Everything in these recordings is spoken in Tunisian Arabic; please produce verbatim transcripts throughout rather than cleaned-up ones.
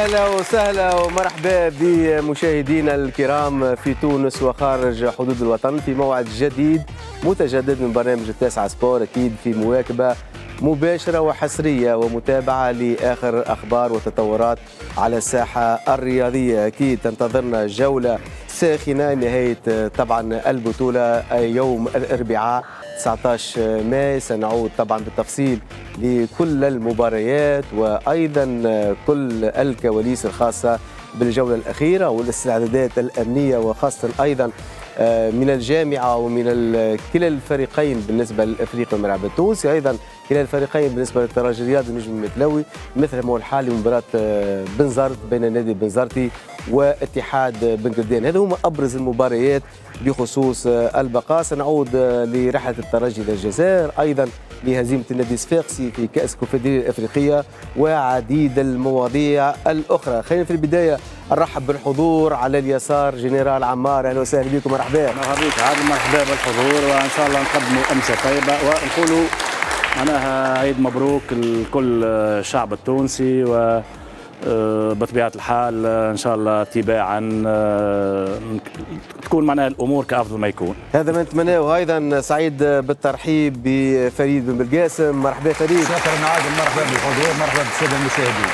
أهلا وسهلا ومرحبا بمشاهدينا الكرام في تونس وخارج حدود الوطن في موعد جديد متجدد من برنامج التاسعة سبور، أكيد في مواكبة مباشرة وحصرية ومتابعة لآخر أخبار وتطورات على الساحة الرياضية. أكيد تنتظرنا جولة ساخنة نهاية طبعا البطولة يوم الأربعاء تسعة عشر ماي. سنعود طبعا بالتفصيل لكل المباريات وأيضا كل الكواليس الخاصة بالجولة الأخيرة والاستعدادات الأمنية، وخاصة أيضا من الجامعة ومن كلا الفريقين بالنسبة للأفريقي والملعب التونسي، أيضا كلا الفريقين بالنسبة للترجي الرياضي والنجم المتلوي، مثل ما هو الحال لمباراة بنزرت بين النادي البنزرتي واتحاد بن قردان. هذا هما أبرز المباريات بخصوص البقاء. سنعود لرحلة الترجي للجزائر، أيضا لهزيمة النادي الصفاقسي في كأس الكونفدرالية الأفريقية وعديد المواضيع الأخرى. خلينا في البداية نرحب بالحضور. على اليسار جنرال عمار، أهلا وسهلا بكم، مرحبا. مرحبا بك عادل، مرحبا بالحضور، وإن شاء الله نقدموا أمسية طيبة ونقولوا معناها عيد مبروك لكل الشعب التونسي، و بطبيعة الحال إن شاء الله تباعا تكون معناها الأمور كأفضل ما يكون. هذا ما نتمناه. وأيضا سعيد بالترحيب بفريد بن بالقاسم، مرحبا فريد. شكرا عادل، مرحبا بالحضور، مرحبا بالسادة المشاهدين.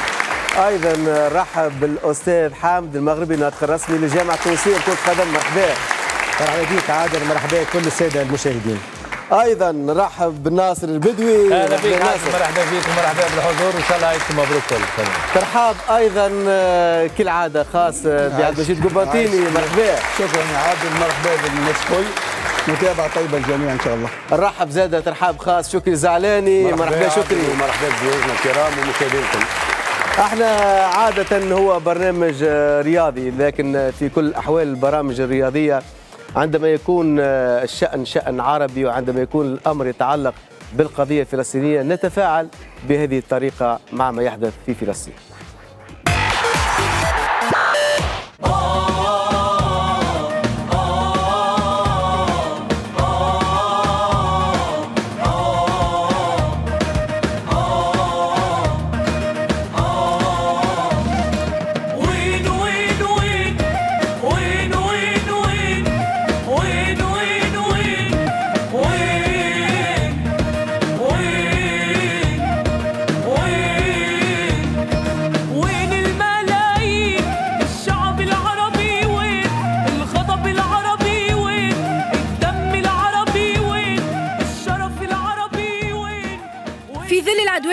أيضا رحب بالأستاذ حامد المغربي، الناطق الرسمي للجامعة التونسية لكرة القدم، مرحبا. مرحبا بك عادل، مرحبا بكل السادة المشاهدين. ايضا نرحب بالناصر البدوي. اهلا بك ناصر، مرحبا بك ومرحبا بالحضور، وان شاء الله عيدكم مبروك كل. ترحاب ايضا كالعادة خاص بعبد المجيد قباطيني، مرحبا. شكرا يا عادل، مرحبا بالناس الكل، متابعه طيبة للجميع ان شاء الله. نرحب زاده ترحاب خاص شكري زعلاني، مرحبا شكري. ومرحبا بضيوفنا الكرام ومشاهدينا الكل. احنا عادة هو برنامج رياضي، لكن في كل الاحوال البرامج الرياضية عندما يكون الشأن شأن عربي وعندما يكون الأمر يتعلق بالقضية الفلسطينية نتفاعل بهذه الطريقة مع ما يحدث في فلسطين.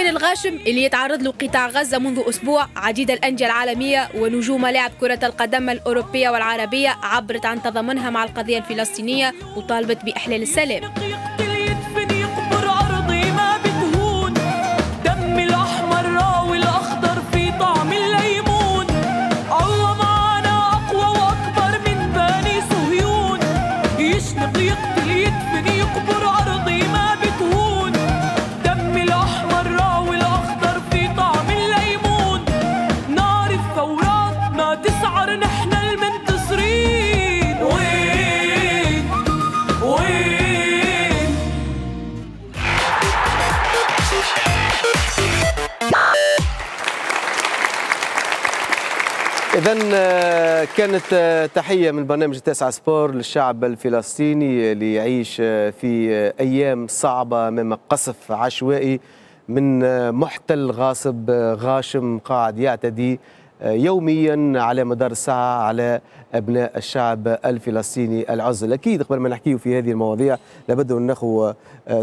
الغاشم اللي يتعرض له قطاع غزة منذ أسبوع، عديد الأندية العالمية ونجوم لاعب كرة القدم الأوروبية والعربية عبرت عن تضامنها مع القضية الفلسطينية وطالبت بإحلال السلام. إذن كانت تحية من برنامج التاسعة سبور للشعب الفلسطيني اللي يعيش في أيام صعبة أمام قصف عشوائي من محتل غاصب غاشم قاعد يعتدي يوميا على مدار الساعة على أبناء الشعب الفلسطيني العزل. أكيد قبل ما نحكيه في هذه المواضيع لابد أن ناخذ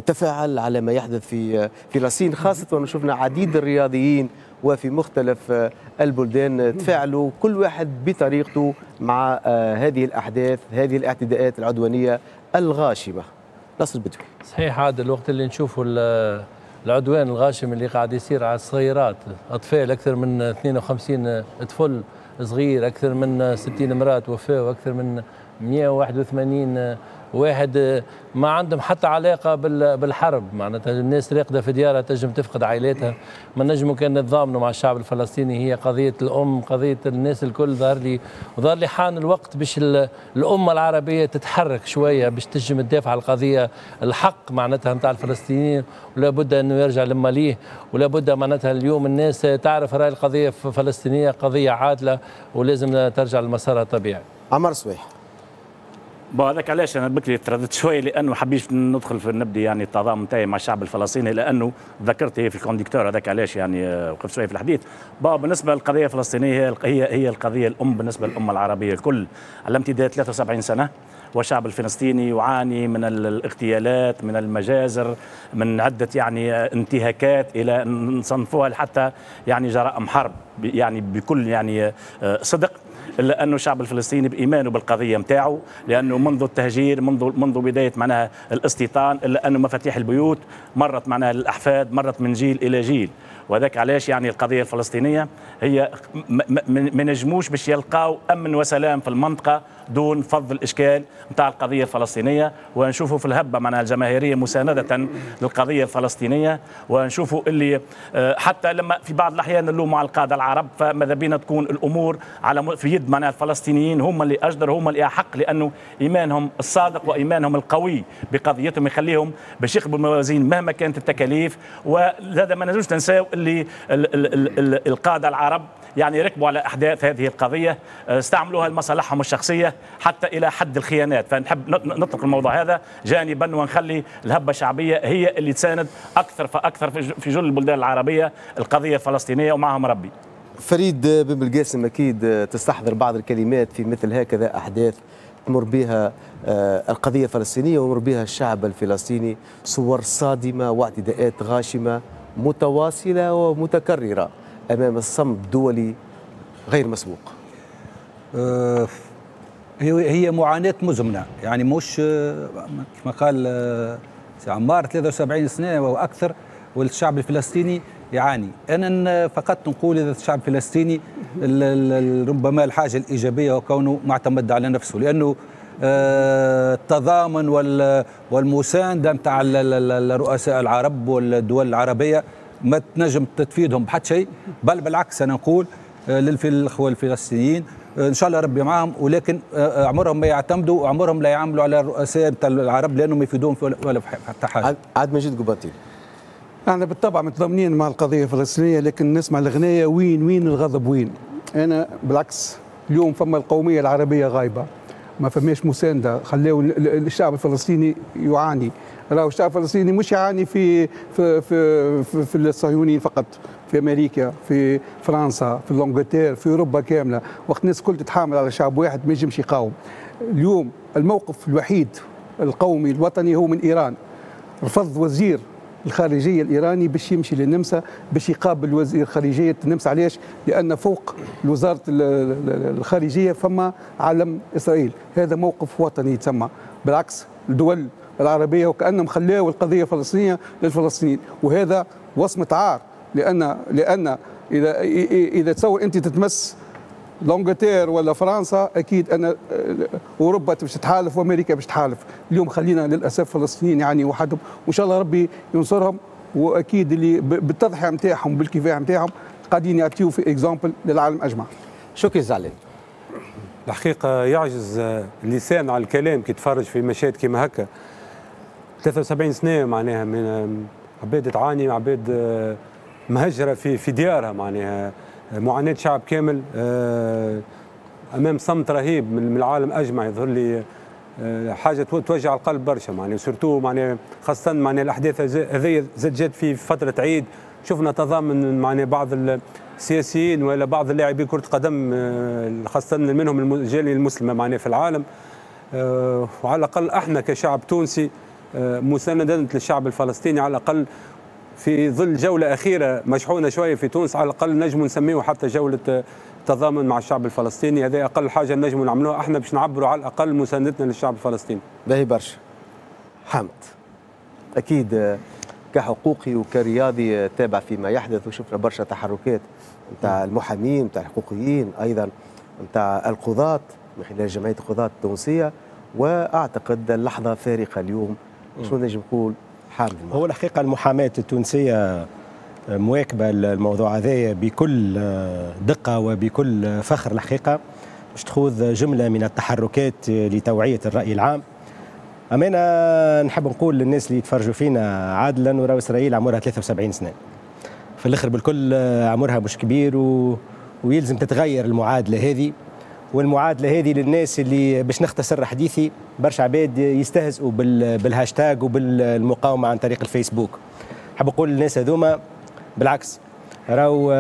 تفاعل على ما يحدث في فلسطين، خاصة وأن شفنا عديد الرياضيين وفي مختلف البلدان تفاعلوا كل واحد بطريقته مع هذه الأحداث، هذه الاعتداءات العدوانية الغاشمة. ناصر البدوي. صحيح عادل، الوقت اللي نشوفوا العدوان الغاشم اللي قاعد يصير على الصغيرات، أطفال أكثر من اثنين وخمسين طفل صغير، أكثر من ستين امرأة توفاوا، أكثر من مئة وواحد وثمانين واحد ما عندهم حتى علاقة بالحرب، معناتها الناس راقده في ديارها تنجم تفقد عائلاتها. ما نجموا كان نتضامنوا مع الشعب الفلسطيني، هي قضية الام، قضية الناس الكل. ظهر لي وظهر لي حان الوقت باش الامة العربية تتحرك شوية باش تنجم تدافع على القضية الحق معناتها نتاع الفلسطينيين، ولا بد انه يرجع لماليه، ولا بد معناتها اليوم الناس تعرف راي القضية الفلسطينية قضية عادلة ولازم ترجع لمسارها الطبيعي. عمر صويح، bon هذاك علاش انا بكري ترددت شوية، لانه حبيت ندخل في نبدي يعني التضامن نتاعي مع الشعب الفلسطيني، لانه ذكرت هي في ال conducteur، هذاك علاش يعني وقفت شوية في الحديث. bon بالنسبة للقضية الفلسطينية هي هي القضية الام بالنسبة للامة العربية الكل، على امتداد ثلاثة وسبعين سنة والشعب الفلسطيني يعاني من الاغتيالات، من المجازر، من عده يعني انتهاكات الى نصنفوها حتى يعني جرائم حرب يعني بكل يعني صدق. الا انه الشعب الفلسطيني بايمانه بالقضية نتاعو، لانه منذ التهجير، منذ منذ بداية معناها الاستيطان، الا انه مفاتيح البيوت مرت معناها للاحفاد، مرت من جيل الى جيل. وذاك علاش يعني القضية الفلسطينية هي ما نجموش باش يلقاو امن وسلام في المنطقة دون فض الاشكال نتاع القضية الفلسطينية. ونشوفوا في الهبة معناها الجماهيرية مساندة للقضية الفلسطينية، ونشوفوا اللي حتى لما في بعض الاحيان نلوموا على القادة العرب، فماذا بينا تكون الامور على في يد معناها الفلسطينيين، هم اللي اجدر، هم اللي احق، لانه ايمانهم الصادق وايمانهم القوي بقضيتهم يخليهم باش يقبلوا الموازين مهما كانت التكاليف. وهذا ما نجمش ننساو اللي القادة العرب يعني ركبوا على احداث هذه القضية، استعملوها لمصالحهم الشخصية حتى الى حد الخيانات. فنحب نطلق الموضوع هذا جانبا ونخلي الهبة الشعبية هي اللي تساند اكثر فاكثر في جل البلدان العربية القضية الفلسطينية، ومعهم ربي. فريد بن بالقاسم، اكيد تستحضر بعض الكلمات في مثل هكذا احداث تمر بها القضية الفلسطينية ويمر بها الشعب الفلسطيني، صور صادمه واعتداءات غاشمه متواصلة ومتكرره امام الصمت الدولي غير مسبوق. أه هي معاناة مزمنة، يعني مش كما قال سي عمار ثلاثة وسبعين سنة واكثر والشعب الفلسطيني يعاني. انا فقط نقول اذا الشعب الفلسطيني ربما الحاجة الايجابية هو كونه معتمد على نفسه، لانه التضامن والمسانده نتاع الرؤساء العرب والدول العربية ما تنجم تفيدهم بحد شيء، بل بالعكس انا نقول للاخوة الفلسطينيين ان شاء الله ربي معاهم، ولكن عمرهم ما يعتمدوا وعمرهم لا يعملوا على الرؤساء نتاع العرب لانهم يفيدوهم ولا حتى حاجة. عاد مجيد قباطي، احنا بالطبع متضامنين مع القضية الفلسطينية، لكن نسمع الغنايه وين وين الغضب وين. انا بالعكس اليوم فما القومية العربية غايبة، ما فماش مساندة، خلاو الشعب الفلسطيني يعاني. راهو الشعب الفلسطيني مش يعاني في في في في, في الصهيونيين فقط، في امريكا، في فرنسا، في l'Angleterre، في اوروبا كاملة. وقت الناس الكل تتحامل على شعب واحد ما ينجمش يقاوم. اليوم الموقف الوحيد القومي الوطني هو من ايران. رفض وزير الخارجية الايراني باش يمشي للنمسا باش يقابل وزير خارجية النمسا. علاش؟ لان فوق وزارة الخارجية فما علم اسرائيل. هذا موقف وطني يتسمى. بالعكس الدول العربية وكانهم خلاو القضية الفلسطينية للفلسطينيين، وهذا وصمة عار. لان لان اذا اذا تصور انت تتمس l'Angleterre ولا فرنسا، اكيد ان اوروبا باش تتحالف وامريكا باش تحالف. اليوم خلينا للاسف فلسطينيين يعني وحدهم، وان شاء الله ربي ينصرهم، واكيد اللي بالتضحيه نتاعهم بالكفاح نتاعهم قاعدين يعطيو في exemple للعالم اجمع. شكرا زعلان. الحقيقة يعجز اللسان على الكلام كي تفرج في مشاهد كيما هكا. ثلاثة وسبعين سنة معناها من عباد تعاني، عباد مهجره في في ديارها، معناها معاناة شعب كامل أمام صمت رهيب من العالم أجمع. يظهر لي حاجة توجع القلب برشا، معناها surtout معناها خاصة معناها الأحداث هذه زاد جات في فترة عيد. شفنا تضامن معناها بعض السياسيين ولا بعض اللاعبين كرة قدم، خاصة منهم الجالية المسلمة معناها في العالم. وعلى الأقل احنا كشعب تونسي مساندة للشعب الفلسطيني، على الأقل في ظل جولة أخيرة مشحونة شوية في تونس، على الأقل نجم نسميه حتى جولة تضامن مع الشعب الفلسطيني. هذا أقل حاجة نجم نعملوها احنا باش نعبروا على الأقل مساندتنا للشعب الفلسطيني. باهي برشا حمد، أكيد كحقوقي وكرياضي تابع فيما يحدث، وشفنا برشا تحركات نتاع المحامين، نتاع الحقوقيين، أيضا نتاع القضاة. من خلال جمعية القضاة التونسية، وأعتقد اللحظة فارقة اليوم. شنو نجم نقول حامد؟ هو الحقيقة المحاماة التونسية مواكبة الموضوع هذايا بكل دقة وبكل فخر الحقيقة، باش تخوض جملة من التحركات لتوعية الرأي العام. أما أنا نحب نقول للناس اللي يتفرجوا فينا عادل، أنه راهو إسرائيل عمرها ثلاثة وسبعين سنة، في الآخر بالكل عمرها مش كبير، و... ويلزم تتغير المعادلة هذه. والمعادلة هذه للناس اللي باش نختصر حديثي، برشا عباد يستهزئوا بال... بالهاشتاج وبالمقاومة عن طريق الفيسبوك. حاب نقول للناس هذوما بالعكس، راهو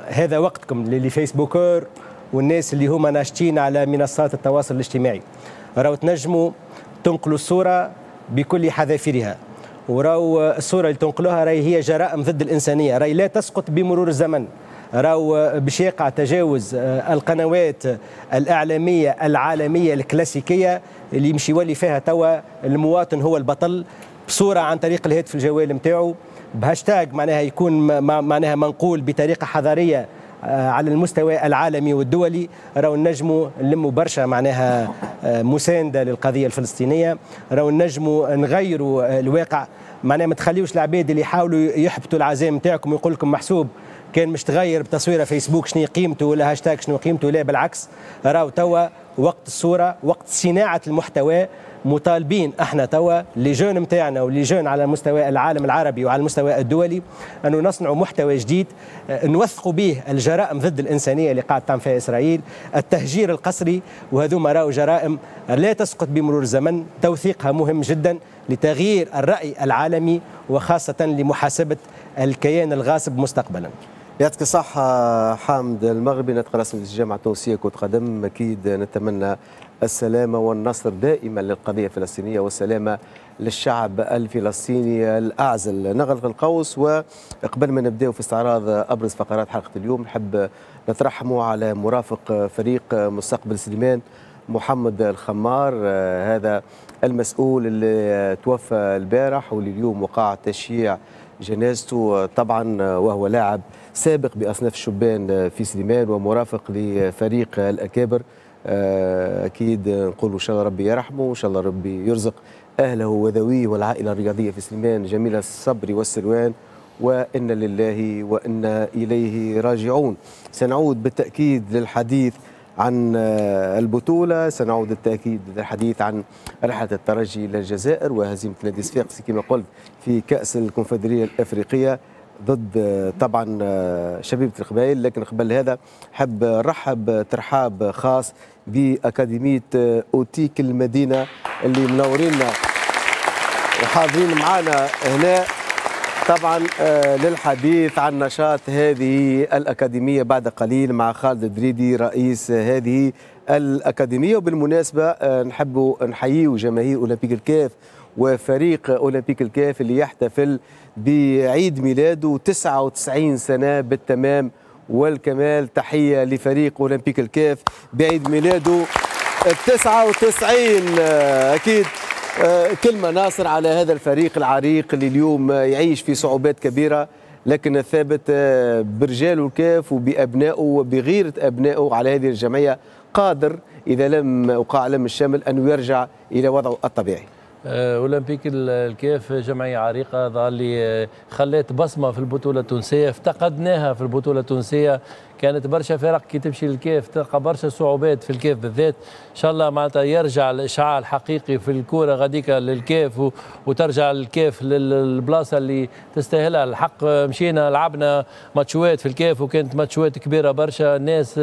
هذا وقتكم للي Facebookeurs والناس اللي هما ناشطين على منصات التواصل الاجتماعي، راهو تنجموا تنقلوا الصورة بكل حذافيرها، وراو الصورة اللي تنقلوها راهي هي جرائم ضد الإنسانية، راهي لا تسقط بمرور الزمن، راهو باش يقع تجاوز القنوات الإعلامية العالمية الكلاسيكية اللي يمشي يولي فيها توا المواطن هو البطل، بصورة عن طريق الهاتف الجوال نتاعو، بهاشتاج معناها يكون معناها منقول بطريقة حضارية على المستوى العالمي والدولي. راهو نجموا نلموا برشا معناها مساندة للقضية الفلسطينية، راهو نجموا نغيروا الواقع. معناها ما تخليوش العباد اللي يحاولوا يحبطوا العزائم نتاعكم ويقول لكم محسوب كان مش تغير بتصويره فيسبوك شنو قيمته ولا هاشتاج شنو قيمته، لا بالعكس، راهو توا وقت الصورة، وقت صناعة المحتوى. مطالبين احنا توا les jeunes نتاعنا و les jeunes على مستوى العالم العربي وعلى المستوى الدولي انه نصنعوا محتوى جديد نوثقوا به الجرائم ضد الانسانية اللي قاعد تعمل فيها اسرائيل، التهجير القسري، وهذوما راهو جرائم لا تسقط بمرور الزمن، توثيقها مهم جدا لتغيير الراي العالمي وخاصة لمحاسبه الكيان الغاصب مستقبلا. يعطيك الصحة حامد المغربي، ناطق رسمي الجامعة التونسية كرة قدم. أكيد نتمنى السلامة والنصر دائما للقضية الفلسطينية والسلامة للشعب الفلسطيني الأعزل. نغلق القوس، وقبل ما نبدأ في استعراض أبرز فقرات حلقة اليوم نحب نترحموا على مرافق فريق مستقبل سليمان محمد الخمار، هذا المسؤول اللي توفى البارح واللي اليوم وقع تشييع جنازته طبعا، وهو لاعب سابق بأصناف الشبان في سليمان ومرافق لفريق الأكابر. أكيد نقول إن شاء الله ربي يرحمه، وإن شاء الله ربي يرزق أهله وذويه والعائلة الرياضية في سليمان جميل الصبر والسلوان، وإن لله وإنا إليه راجعون. سنعود بالتأكيد للحديث عن البطولة، سنعود بالتأكيد للحديث عن رحلة الترجي للجزائر وهزيمة نادي صفاقسي كما قلت في كأس الكونفدرالية الأفريقية ضد طبعا شبيبة القبائل. لكن قبل هذا حب نرحب ترحاب خاص بأكاديمية أوتيك المدينة اللي منورينا وحاضرين معنا هنا طبعا للحديث عن نشاط هذه الأكاديمية بعد قليل مع خالد الدريدي رئيس هذه الأكاديمية. وبالمناسبة نحب نحييه جماهير أولمبيك الكاف وفريق أولمبيك الكاف اللي يحتفل بعيد ميلاده تسعة وتسعين سنة بالتمام والكمال. تحية لفريق أولمبيك الكاف بعيد ميلاده التسعة وتسعين. أكيد كلمة ناصر على هذا الفريق العريق اللي اليوم يعيش في صعوبات كبيرة، لكن الثابت برجاله الكاف وبأبنائه وبغيرة أبنائه على هذه الجمعية قادر إذا لم وقع لم الشمل أنه يرجع إلى وضعه الطبيعي. أولمبيك الكاف جمعية عريقة ظهر لي خلت بصمة في البطولة التونسية، افتقدناها في البطولة التونسية. كانت برشا فرق كي تمشي للكاف تلقى برشا صعوبات في الكاف بالذات. ان شاء الله معناتها يرجع الاشعاع الحقيقي في الكورة غاديكا للكاف وترجع الكاف للبلاصه اللي تستاهلها. الحق مشينا لعبنا ماتشوات في الكاف وكانت ماتشوات كبيرة برشا، الناس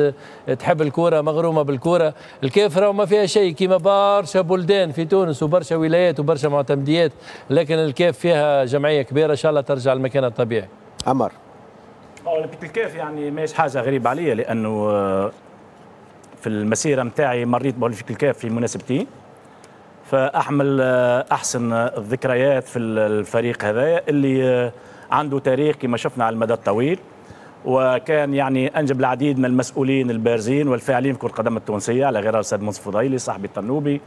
تحب الكورة مغرومه بالكورة. الكاف راهو ما فيها شيء كيما برشا بلدان في تونس وبرشا ولايات وبرشا معتمديات، لكن الكاف فيها جمعية كبيرة ان شاء الله ترجع لمكانها الطبيعي. عمر، اولمبيك الكاف يعني ماهيش حاجة غريبة عليا، لانه في المسيرة نتاعي مريت باولمبيك الكاف في مناسبتين، فاحمل احسن الذكريات في الفريق هذايا اللي عنده تاريخ كما شفنا على المدى الطويل، وكان يعني انجب العديد من المسؤولين البارزين والفاعلين في كره القدم التونسية على غرار الاستاذ منصف فضيلي صاحبي الطنوبي،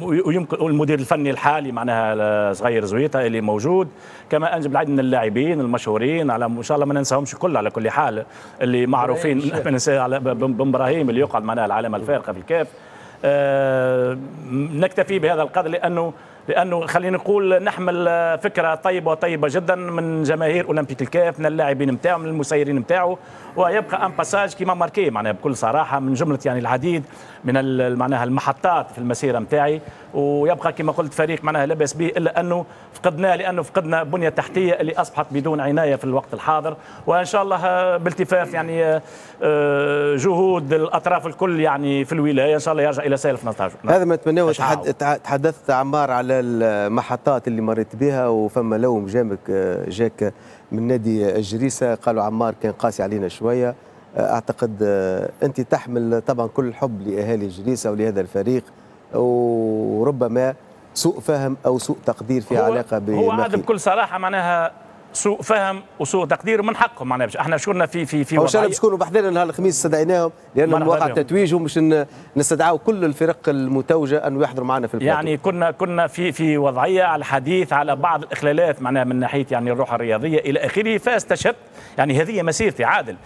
ويمكن المدير الفني الحالي معناها صغير زويته اللي موجود، كما انجب العديد من اللاعبين المشهورين، على ان شاء الله ما ننساهمش كل على كل حال اللي معروفين، ما ننسى على بن ابراهيم اللي يقعد معناها العلامة الفارقة في الكاف. أه نكتفي بهذا القدر لانه لانه خلينا نقول نحمل فكرة طيبة وطيبة جدا من جماهير اولمبيك الكاف، من اللاعبين نتاعو، من المسيرين نتاعو، ويبقى un passage qui m'a marqué معناها بكل صراحة من جملة يعني العديد من معناها المحطات في المسيرة نتاعي، ويبقى كما قلت فريق معناها لاباس به، الا انه فقدناه لانه فقدنا بنيه تحتيه اللي اصبحت بدون عناية في الوقت الحاضر، وان شاء الله بالتفاف يعني جهود الاطراف الكل يعني في الولاية ان شاء الله يرجع الى سالف نتاجه. هذا ما نتمناه. تحدثت عمار على المحطات اللي مريت بها، وفما لوم جامك جاك من نادي الجريسه، قالوا عمار كان قاسي علينا شوية. اعتقد انت تحمل طبعا كل الحب لاهالي الجريسه ولهذا الفريق، وربما سوء فهم او سوء تقدير في علاقة ب هو عاد بكل صراحة معناها سوء فهم وسوء تقدير ومن حقهم معناها. احنا شكرنا في في في وضعية، ان شاء الله باش يكونوا بحذانا نهار الخميس استدعيناهم لانهم وقع تتويج، ومش نستدعوا كل الفرق المتوجه انه يحضروا معنا في البلاتو. يعني كنا كنا في في وضعية على الحديث على بعض الاخلالات معناها من ناحية يعني الروح الرياضية الى اخره، فاستشهدت يعني هذه مسيرتي عادل،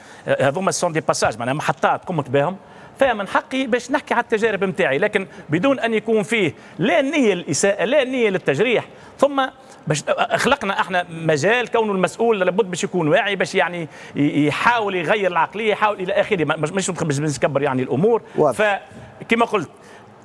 هذوما sont des passages معناها محطات قمت بهم، فمن حقي باش نحكي على التجارب نتاعي، لكن بدون ان يكون فيه لا نيه للاساءه لا نيه للتجريح. ثم باش خلقنا احنا مجال كونه المسؤول لابد باش يكون واعي، باش يعني يحاول يغير العقلية، يحاول الى اخره، مش باش نكبر يعني الامور. فكما قلت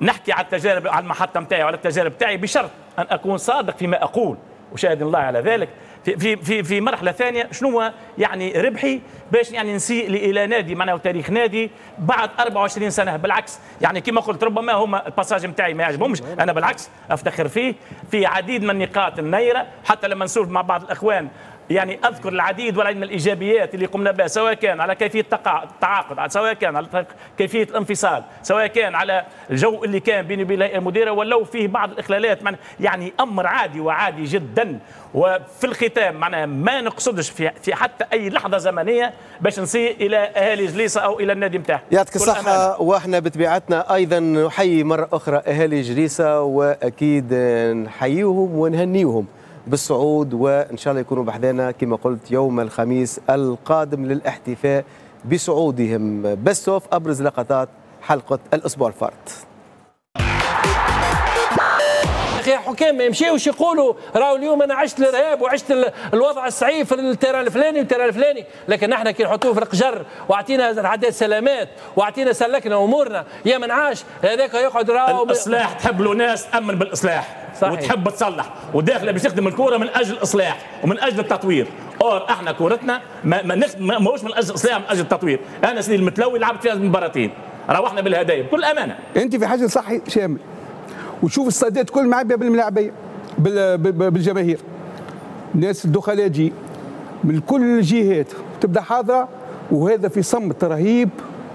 نحكي على التجارب، على المحطة نتاعي وعلى التجارب نتاعي، بشرط ان اكون صادق فيما اقول وشاهد الله على ذلك. في في في في مرحلة ثانية شنو يعني ربحي باش يعني نسيء الى نادي معناه تاريخ نادي بعد أربعة وعشرين سنة؟ بالعكس يعني كما قلت ربما هما ال passage نتاعي ما يعجبهمش، انا بالعكس افتخر فيه في عديد من النقاط النيره، حتى لما نسولف مع بعض الاخوان يعني اذكر العديد والعديد من الايجابيات اللي قمنا بها، سواء كان على كيفية التعاقد، سواء كان على كيفية الانفصال، سواء كان على الجو اللي كان بيني وبين الهيئة المديرة، ولو فيه بعض الاخلالات يعني امر عادي وعادي جدا. وفي الختام معناها ما نقصدش في في حتى اي لحظة زمنية باش نسيء الى اهالي جليسه او الى النادي نتاعها. يعطيك الصحة، واحنا بطبيعتنا ايضا نحيي مرة اخرى اهالي جليسه، واكيد نحييهم ونهنيهم بالصعود، وان شاء الله يكونوا بحذانا كما قلت يوم الخميس القادم للاحتفاء بصعودهم. best of ابرز لقطات حلقة الاسبوع الفارط. اخي حكام ما يمشيوش يقولوا راهو اليوم انا عشت الارهاب وعشت الوضع الصعيب في ال terrain الفلاني وال terrain الفلاني، لكن نحن كي نحطوه في القجر واعطينا عداد سلامات واعطينا سلكنا امورنا، يا من عاش هذاك يقعد راهو. الاصلاح تحب له ناس تامن بالاصلاح. صحيح. وتحب تصلح وداخله باش تخدم الكورة من اجل الاصلاح ومن اجل التطوير. or احنا كورتنا ما ما ماهوش من اجل الاصلاح، من اجل التطوير. انا سيدي المتلوي لعبت فيها مباراتين، روحنا بالهدايا بكل امانه. انت في حاجة صحي شامل، وتشوف الصادات كل معبيه بالملاعبيه بالجماهير، الناس الدخلاء تجي من كل الجهات تبدا حاضره، وهذا في صمت رهيب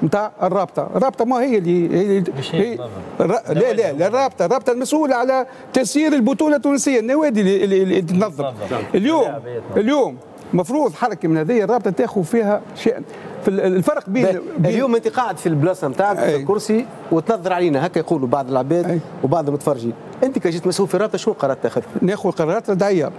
نتاع الرابطة. الرابطة ما هي اللي هي, هي لا لا لا الرابطة الرابطة المسؤولة على تسيير البطولة التونسية، النوادي اللي, اللي تنظم. اليوم اليوم مفروض حركة من هذه الرابطة تاخذ فيها شيء في الفرق بين, بين اليوم انت قاعد في البلاصة نتاعك في الكرسي وتنظر علينا هكا يقولوا بعض العباد وبعض المتفرجين، انت كجيت مسؤول في الرابطة شنو قرارات تاخذ؟ ناخذ قرارات ردعيه،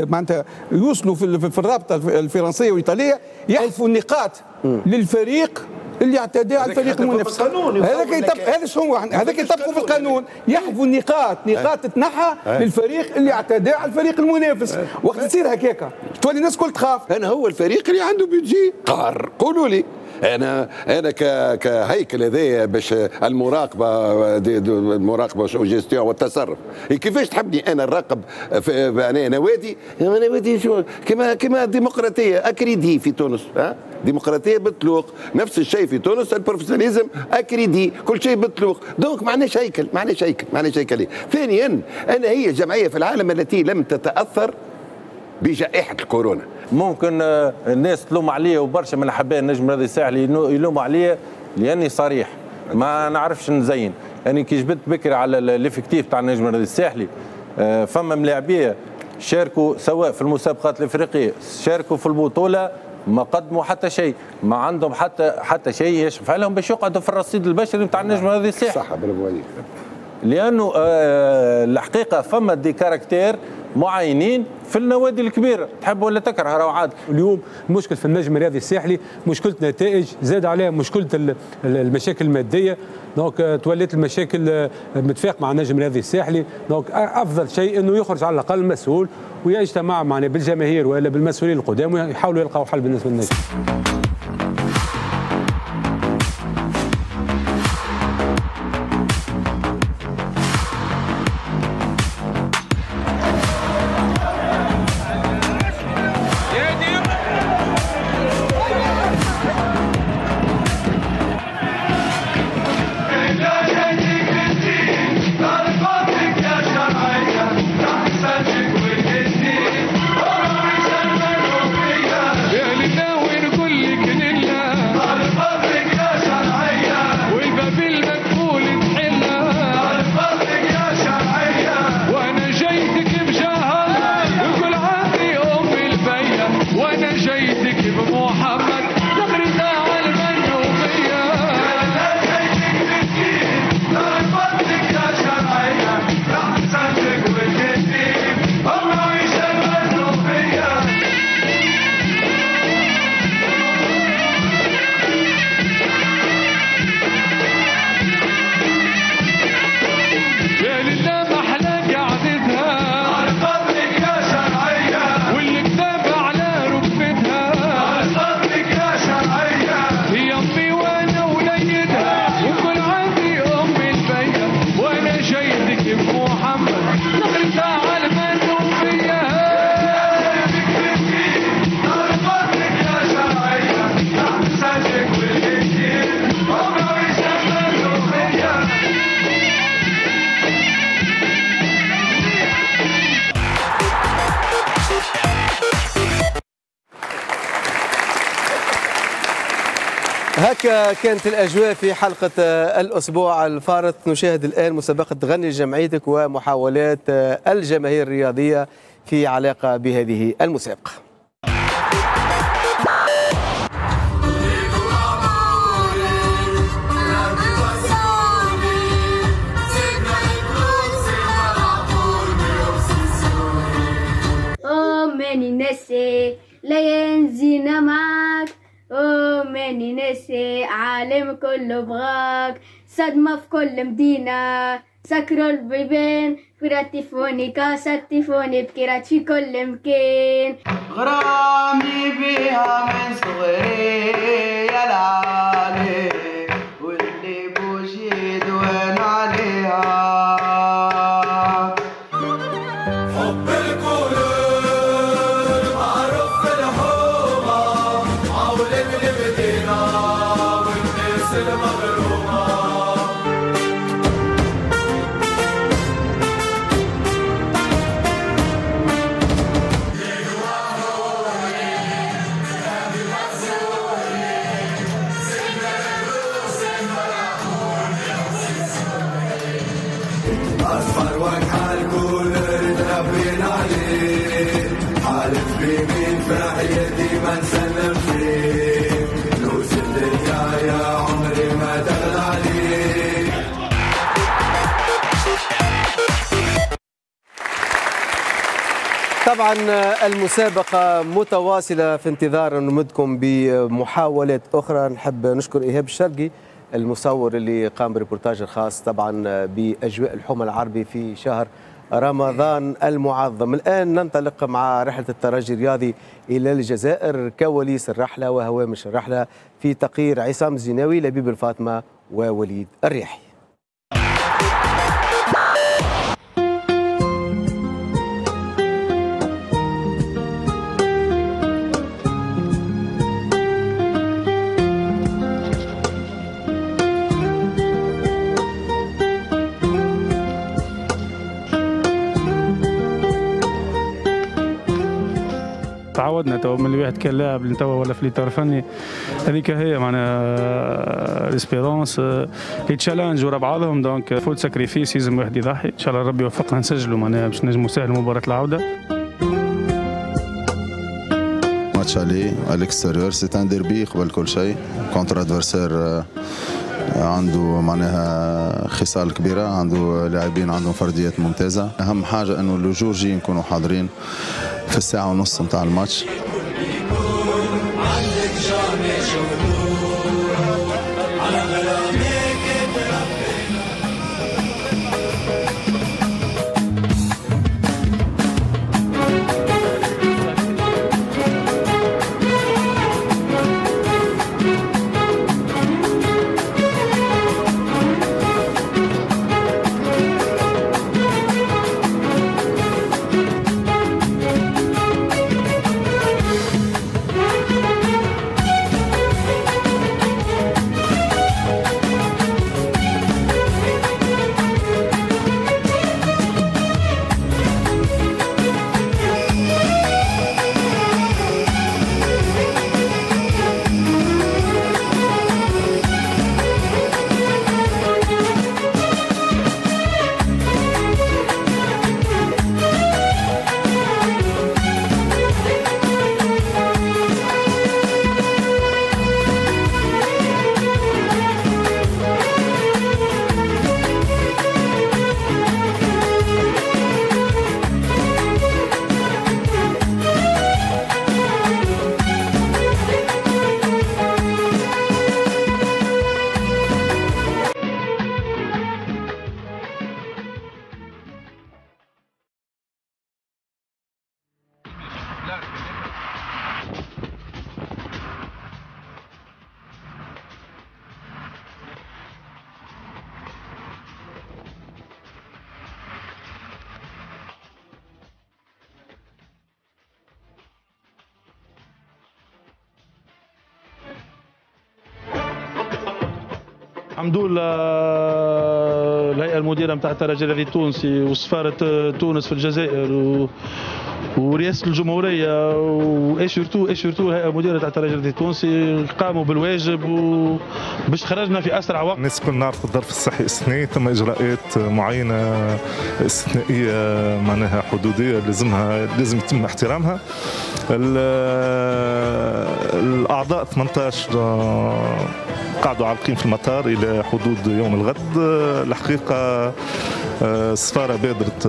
معناتها يوصلوا في الرابطة الفرنسية والايطاليه يحذفوا النقاط للفريق اللي اعتدى على الفريق المنافس. هذاك يطبق، هذا شنو هذاك يطبقوا في القانون، يحذفوا النقاط، نقاط تتنحى للفريق اللي اعتدى على الفريق المنافس. وقت تصير هكاكا تولي الناس الكل تخاف. انا هو الفريق اللي عنده budget قار، قولوا لي انا انا كهيكل هذايا باش المراقبة المراقبة وجيستيون والتصرف، كيفاش تحبني انا نراقب في نوادي؟ نوادي شو كما كما الديمقراطية à crédit في تونس، ها ديمقراطية بالطلوق، نفس الشيء في تونس ال professionnalisme à crédit، كل شيء بالطلوق، donc ما عندناش هيكل، ما عندناش هيكل، ما عندناش هيكل. ثانيا انا هي جمعية في العالم التي لم تتاثر بجائحة الكورونا. ممكن الناس تلوم عليا وبرشا من احباء النجم الرياضي الساحلي يلوموا عليا لاني صريح، ما نعرفش نزين. يعني كي جبت بكري على l'effectif تاع النجم الرياضي الساحلي، فما ملاعبيه شاركوا سواء في المسابقات الافريقية، شاركوا في البطولة، ما قدموا حتى شيء، ما عندهم حتى حتى شيء يشفع لهم باش يقعدوا في الرصيد البشري نتاع النجم الرياضي الساحلي. صح، برافو عليك. لانه الحقيقة فما des caractères معينين في النوادي الكبيرة، تحب ولا تكره راهو عاد. اليوم المشكل في النجم الرياضي الساحلي مشكلة نتائج، زاد عليها مشكلة المشاكل المادية، donc تولت المشاكل متفاق مع النجم الرياضي الساحلي، donc افضل شيء انه يخرج على الاقل مسؤول ويجتمع معنا بالجماهير والا بالمسؤولين القدام ويحاولوا يلقاو حل بالنسبة للنجم. هكا كانت الأجواء في حلقة الأسبوع الفارط. نشاهد الآن مسابقة غني جمعيتك ومحاولات الجماهير الرياضية في علاقة بهذه المسابقة. ماني ناسي لا ينزينا معاك، أوه ماني ناسي عالم كله بغاك، صدمة في كل مدينة سكروا البيبان، كراتيفوني كاساتيفوني بكرات في كل مكان، غرامي بيها من صغري يا العالي واللي بوجيد وين عليها حب القلوب معروف في الحومة عولة المدينة والناس المغرومة. أصفر وجه الكل تربينا عليه، حالف بمين في حياتي ما نسلم فيه، فلوس الدنيا يا عمري ما تغلى عليه. طبعا المسابقة متواصلة في انتظار نمدكم بمحاولات أخرى. نحب نشكر إيهاب الشرقي المصور اللي قام بريبورتاج الخاص طبعا باجواء الحومه العربي في شهر رمضان المعظم. الان ننطلق مع رحله الترجي الرياضي الى الجزائر، كواليس الرحلة وهوامش الرحلة في تقرير عصام الزناوي، لبيب الفاطمة ووليد الريحي. تعودنا تو من الواحد كان لاعب اللي توا ولا في الاطار الفني، هذيك هي معناها l'Espérance les challenges ورا بعضهم، donc faut sacrifice لازم واحد يضحي. ان شاء الله ربي يوفقنا نسجلوا معناها باش نجموا نسهلوا مباراة العودة. match aller à l'extérieur c'est un derby قبل كل شيء contre adversaire عنده معناها خصال كبيرة، عنده لاعبين عندهم فرديات ممتازة. اهم حاجة انه le jour J نكونوا حاضرين في الساعة ونص نتاع الماتش. الحمد لله الهيئة المديرة نتاع الترجي الرياضي التونسي وسفاره تونس في الجزائر و... ورئاسه الجمهورية و surtout et surtout الهيئة المديرة تاع الترجي الرياضي التونسي قاموا بالواجب وباش خرجنا في اسرع وقت. الناس كل نعرف الظرف الصحي استثنائي، ثم اجراءات معينة استثنائية معناها حدوديه لازمها لازم يتم احترامها. الاعضاء ثمانية عشر قعدوا عالقين في المطار الى حدود يوم الغد. الحقيقة السفارة بادرت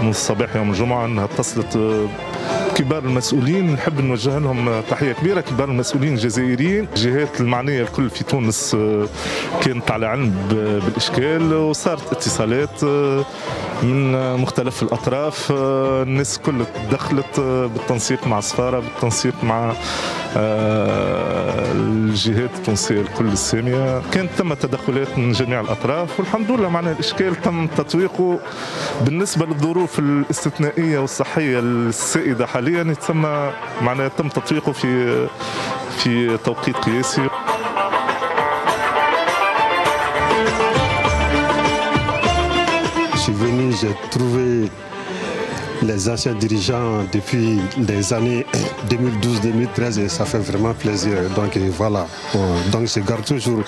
من الصباح يوم الجمعة انها اتصلت كبار المسؤولين، نحب نوجه لهم تحية كبيرة، كبار المسؤولين الجزائريين، الجهات المعنية الكل في تونس كانت على علم بالاشكال وصارت اتصالات من مختلف الاطراف، الناس الكل تدخلت بالتنسيق مع السفارة، بالتنسيق مع الجهات التونسية الكل السامية، كانت ثم تدخلات من جميع الاطراف والحمد لله معناها الاشكال تم تطويقه. بالنسبة للظروف الاستثنائية والصحية السائدة حاليا يتسمى معناها تم تطويقه في في توقيت قياسي. Je suis venu, j'ai trouvé les anciens dirigeants depuis les années deux mille douze deux mille treize et ça fait vraiment plaisir. Donc voilà, donc je garde toujours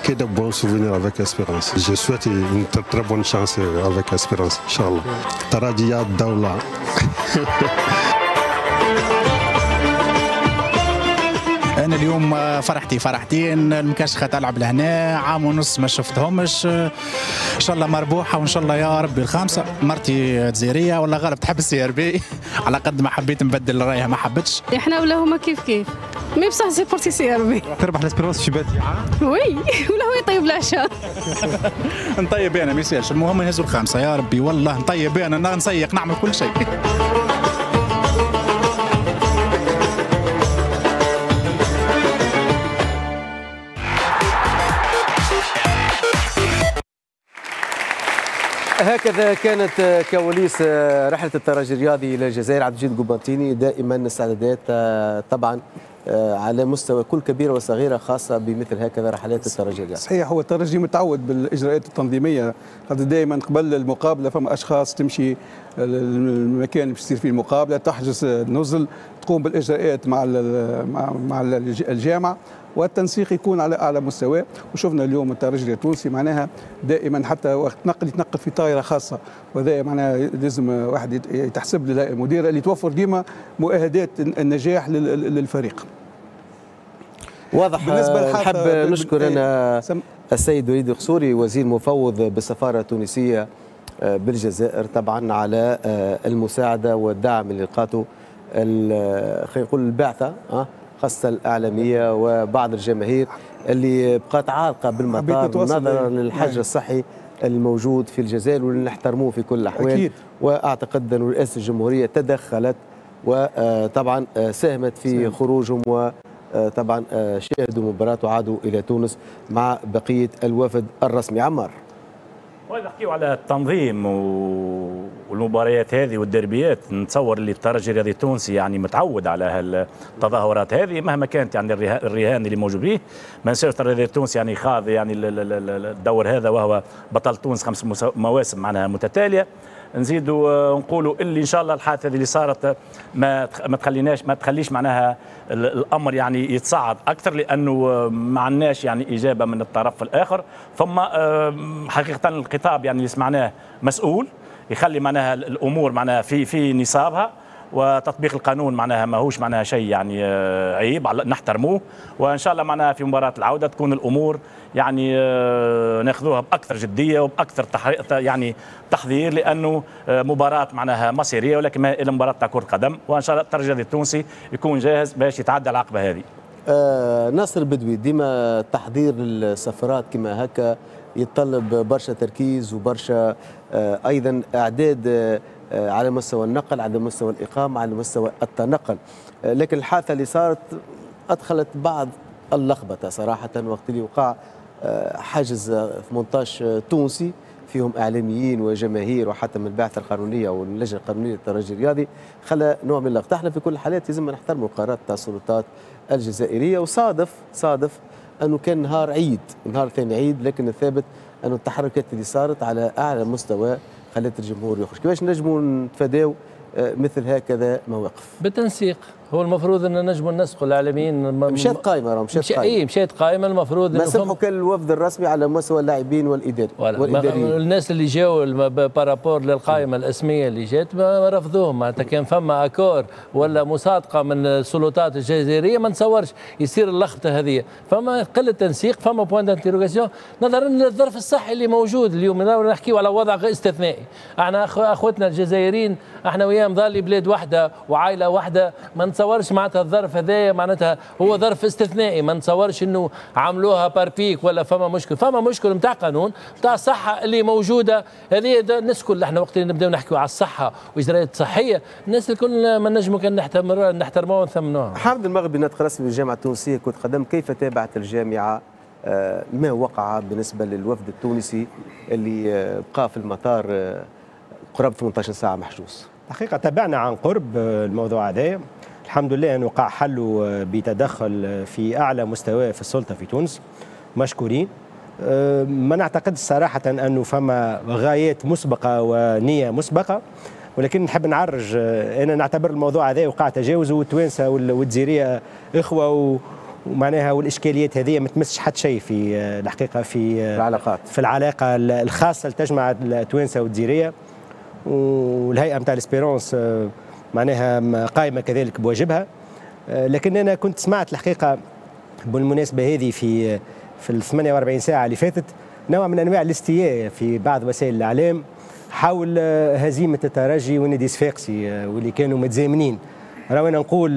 que de bons souvenirs avec Espérance. Je souhaite une très, très bonne chance avec Espérance, Inch'Allah. Taradia Daoula. أنا اليوم فرحتي فرحتين، المكشخة تلعب لهنا عام ونص ما شفتهمش، إن شاء الله مربوحة وإن شاء الله يا ربي الخامسة. مرتي جزائرية ولا غالب تحب ال CRB، على قد ما حبيت نبدل رايها ما حبتش. احنا ولا هما كيف كيف، mais بصح supporter CRB. تربح l'Espérance في باتي. oui ولا هو يطيب العشاء. نطيب أنا ما يسالش، المهم نهزوا الخامسة يا ربي، والله نطيب أنا نسيق نعمل كل شيء. هكذا كانت كواليس رحلة الترجي الرياضي إلى الجزائر. عبد المجيد قبانطيني، دائما استعدادات طبعا على مستوى كل كبيرة وصغيرة خاصة بمثل هكذا رحلات الترجي الرياضي. صحيح، هو الترجي متعود بالإجراءات التنظيمية، خاطر دائما قبل المقابلة فما أشخاص تمشي المكان اللي باش تصير فيه المقابلة، تحجز النزل، تقوم بالإجراءات مع مع الجامعة، والتنسيق يكون على اعلى مستوى. وشفنا اليوم الترجي التونسي معناها دائما حتى وقت نقل يتنقل في طائره خاصة، وهذا معناها لازم واحد يتحسب للهيئة المديرة اللي توفر ديما مؤهدات النجاح للفريق. واضح. بالنسبة نحب نشكر انا السيد وليد القصوري وزير مفوض بالسفاره التونسية بالجزائر طبعا على المساعدة والدعم اللي لقاته خلينا نقول البعثة خاصة الاعلامية وبعض الجماهير اللي بقات عالقة بالمطار نظرا للحجر الصحي الموجود في الجزائر واللي نحترموه في كل الاحوال. واعتقد ان رئاسة الجمهورية تدخلت وطبعا ساهمت في خروجهم، وطبعا شاهدوا مباراة وعادوا الى تونس مع بقية الوفد الرسمي. عمار، نحكيو على التنظيم والمباريات هذه والدربيات، نتصور اللي الترجي الرياضي التونسي يعني متعود على هالتظاهرات هذه مهما كانت يعني الرهان اللي موجود به. ما ننساوش الترجي الرياضي التونسي يعني خاض يعني الدور هذا وهو بطل تونس خمس مواسم معناها متتالية. نزيدوا نقولوا اللي ان شاء الله الحادثة اللي صارت ما ما تخليناش ما تخليش معناها الامر يعني يتصاعد اكثر، لانه ما عندناش يعني اجابه من الطرف الاخر. ثم حقيقة الخطاب يعني اللي سمعناه مسؤول يخلي معناها الامور معناها في في نصابها، وتطبيق القانون معناها ماهوش معناها شيء يعني عيب، نحترموه. وان شاء الله معناها في مباراة العودة تكون الامور يعني ناخذوها باكثر جدية وباكثر يعني تحضير، لانه مباراة معناها مصيرية ولكن ما الى مباراة تاع كره قدم. وان شاء الله الترجي التونسي يكون جاهز باش يتعدى العقبة هذه. آه ناصر بدوي، ديما تحضير السفرات كما هكا يتطلب برشا تركيز وبرشا آه ايضا اعداد آه على مستوى النقل، على مستوى الإقامة، على مستوى التنقل. لكن الحادثة اللي صارت أدخلت بعض اللخبطة صراحة، وقت اللي وقع حجز ثمانية عشر تونسي فيهم إعلاميين وجماهير وحتى من البعثة القانونية واللجنة القانونية للترجي الرياضي، خلى نوع من اللخبطة. احنا في كل الحالات لازم نحترموا القرارات تاع السلطات الجزائرية، وصادف صادف أنه كان نهار عيد، نهار ثاني عيد، لكن الثابت أنه التحركات اللي صارت على أعلى مستوى خلت الجمهور يخرج. كيفاش نجموا نتفاداو مثل هكذا مواقف؟ بالتنسيق. هو المفروض ان نجموا ننسقوا الاعلاميين. مشات قائمة، راه مشات قائمة. اي مشات قائمة، المفروض ما سمحوا كان الوفد الرسمي على مستوى اللاعبين والاداري والاداريين. الناس اللي جاوا par rapport للقائمه الاسمية اللي جات ما رفضوهم، معناتها كان فما accord ولا مصادقه من السلطات الجزائرية ما نتصورش يصير اللخبطة هذه. فما قلة تنسيق، فما point d'interrogation نظرا للظرف الصحي اللي موجود اليوم. نحكيو على وضع استثنائي، احنا اخوتنا الجزائريين احنا وياهم ظالي بلاد واحدة وعائلة واحدة، ما نتصورش معناتها الظرف هذايا معناتها هو ظرف استثنائي، ما نتصورش انه عملوها par pique ولا فما مشكل، فما مشكل نتاع قانون نتاع الصحة اللي موجودة هذه. الناس الكل احنا وقت اللي نبداو نحكيو على الصحة واجراءات صحية الناس الكل ما نجموا كان نحترموها ونثمنوها. حامد المغربي ناطق رسمي بالجامعة التونسية كرة قدم، كيف تابعت الجامعة ما وقع بالنسبة للوفد التونسي اللي بقى في المطار قرابة ثمانية عشر ساعة محجوز؟ الحقيقة تابعنا عن قرب الموضوع هذا، الحمد لله أنه وقع حله بتدخل في أعلى مستوى في السلطة في تونس، مشكورين. ما نعتقد صراحة أنه فما غايات مسبقة ونية مسبقة، ولكن نحب نعرج، أنا نعتبر الموضوع هذا وقع تجاوزه، والتوانسة والجزائرية إخوة ومعناها والإشكاليات هذه ما تمسش حتى شيء في الحقيقة في العلاقات، في العلاقة الخاصة اللي تجمع التوانسة والجزائرية. والهيئة نتاع الاسبيرونس معناها قائمة كذلك بواجبها. لكن انا كنت سمعت الحقيقة بالمناسبة هذه في في ال ثمانية وأربعين ساعة اللي فاتت نوع من انواع الاستياء في بعض وسائل الاعلام حول هزيمة الترجي والنادي الصفاقسي واللي كانوا متزامنين. راهو انا نقول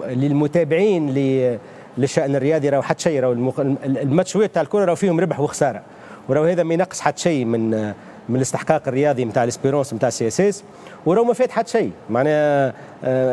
للمتابعين للشان الرياضي راهو حتى شيء، راهو الماتشوات تاع الكره راهو فيهم ربح وخسارة، وراهو هذا ما ينقص حتى شيء من من الاستحقاق الرياضي نتاع الاسبيرونس نتاع CSS، وراهو ما فات حتى شيء. معناها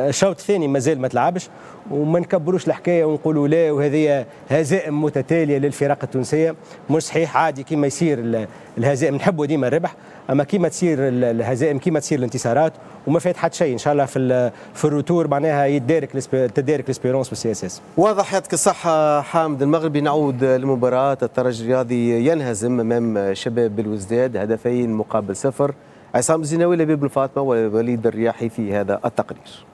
الشوط الثاني مازال ما تلعبش، وما نكبروش الحكاية ونقولوا لا وهذه هزائم متتالية للفرق التونسية، مش صحيح. عادي كيما يصير الهزائم، نحبوا ديما الربح، اما كيما تصير الهزائم كيما تصير الانتصارات، وما فات حتى شيء. ان شاء الله في في ال retour معناها يدارك تدارك الاسبيرونس وال CSS. واضح، يعطيك الصحة حامد المغربي. نعود للمباراة، الترجي الرياضي ينهزم امام شباب بلوزداد هدفين مقابل صفر. عصام الزيناوي، لبيب بن فاطمة، ووليد الرياحي في هذا التقرير.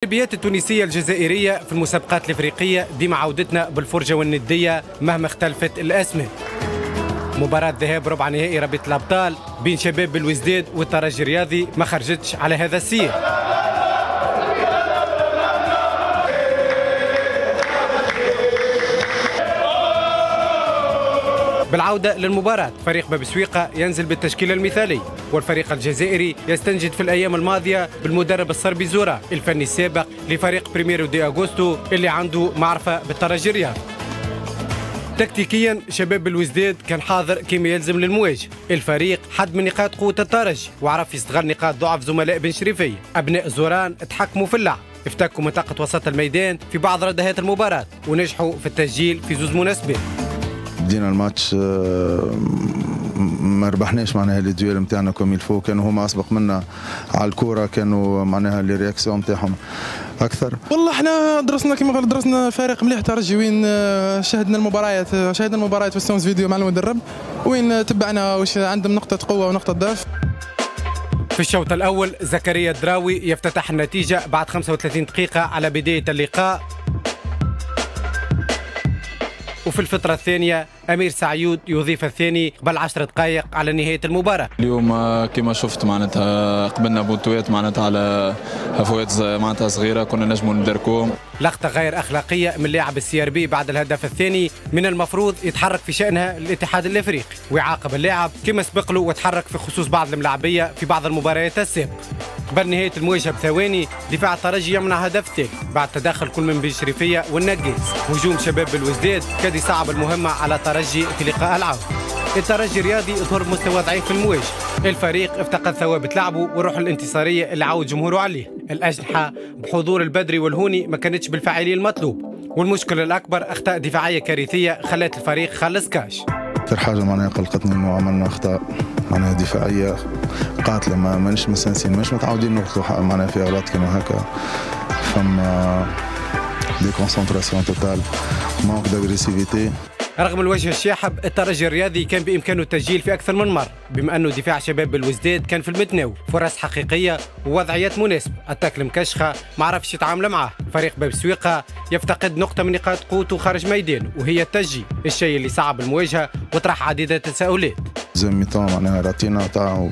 الدربيات التونسية الجزائرية في المسابقات الإفريقية ديما عودتنا بالفرجة والندية مهما اختلفت الأسماء. مباراة ذهاب ربع نهائي رابطة الأبطال بين شباب بلوزداد والترجي الرياضي ما خرجتش على هذا السير. بالعودة للمباراة فريق باب سويقة ينزل بالتشكيلة المثالية، والفريق الجزائري يستنجد في الأيام الماضية بالمدرب الصربي زورا الفني السابق لفريق بريميرو دي أغوستو اللي عنده معرفة بالترجي الرياضي. تكتيكيا شباب بلوزداد كان حاضر كما يلزم للمواجهة، الفريق حد من نقاط قوة الترجي وعرف يستغل نقاط ضعف زملاء بن شريفية. أبناء زوران تحكموا في اللعب، افتكوا منطقة وسط الميدان في بعض ردهات المباراة ونجحوا في التسجيل في زوز مناسبات. بدينا الماتش ما ربحناش معناها les duels نتاعنا comme il faut، كانوا هما اسبق منا على الكورة، كانوا معناها les réactions نتاعهم اكثر. والله احنا درسنا كما قال درسنا فريق مليح ترجي، وين شاهدنا المباريات شاهدنا المباريات في ال séance vidéo مع المدرب، وين تبعنا واش عندهم نقطة قوة ونقطة ضعف. في الشوط الاول زكريا الدراوي يفتتح النتيجة بعد خمسة وثلاثين دقيقة على بداية اللقاء، وفي الفترة الثانية أمير سعيود يضيف الثاني قبل عشر دقائق على نهاية المباراة. اليوم كما شفت معناتها قبلنا بونتوات معناتها على هفوات معناتها صغيرة كنا نجموا ندركوهم. لقطة غير أخلاقية من لاعب ال CRB بعد الهدف الثاني، من المفروض يتحرك في شأنها الاتحاد الإفريقي ويعاقب اللاعب كما سبق له وتحرك في خصوص بعض الملاعبية في بعض المباريات السابقة. قبل نهاية المواجهة بثواني دفاع الترجي يمنع هدف ثاني بعد تدخل كل من بن شريفية والنقاز. هجوم شباب بلوزداد كاد يصعب المهمة على الترجي في لقاء العودة. الترجي الرياضي ظهر بمستوى ضعيف في المواجهة، الفريق افتقد ثوابت لعبه والروح الانتصارية اللي عود جمهوره عليه. الأجنحة بحضور البدري والهوني ما كانتش بالفاعلية المطلوب، والمشكلة الأكبر أخطاء دفاعية كارثية خلت الفريق خلص كاش. أكثر حاجة معناها قلقتني إنه عملنا أخطاء معناها دفاعية قاتلة، ما مانيش مستانسين، مانيش متعودين نغلطوا معناها في أغلاط كيما هكا. فما déconcentration totale، manque d'agressivité. رغم الوجه الشاحب الترجي الرياضي كان بإمكانه التسجيل في أكثر من مرة، بما أنه دفاع شباب بلوزداد كان في المتناول، فرص حقيقية ووضعيات مناسبة، attaque المكشخة ما عرفش يتعامل معاه. فريق باب سويقة يفتقد نقطة من نقاط قوته خارج ميدانه وهي التسجيل، الشيء اللي صعب المواجهة وطرح عديد التساؤلات. deuxième mi-temps معناها راتينا تاع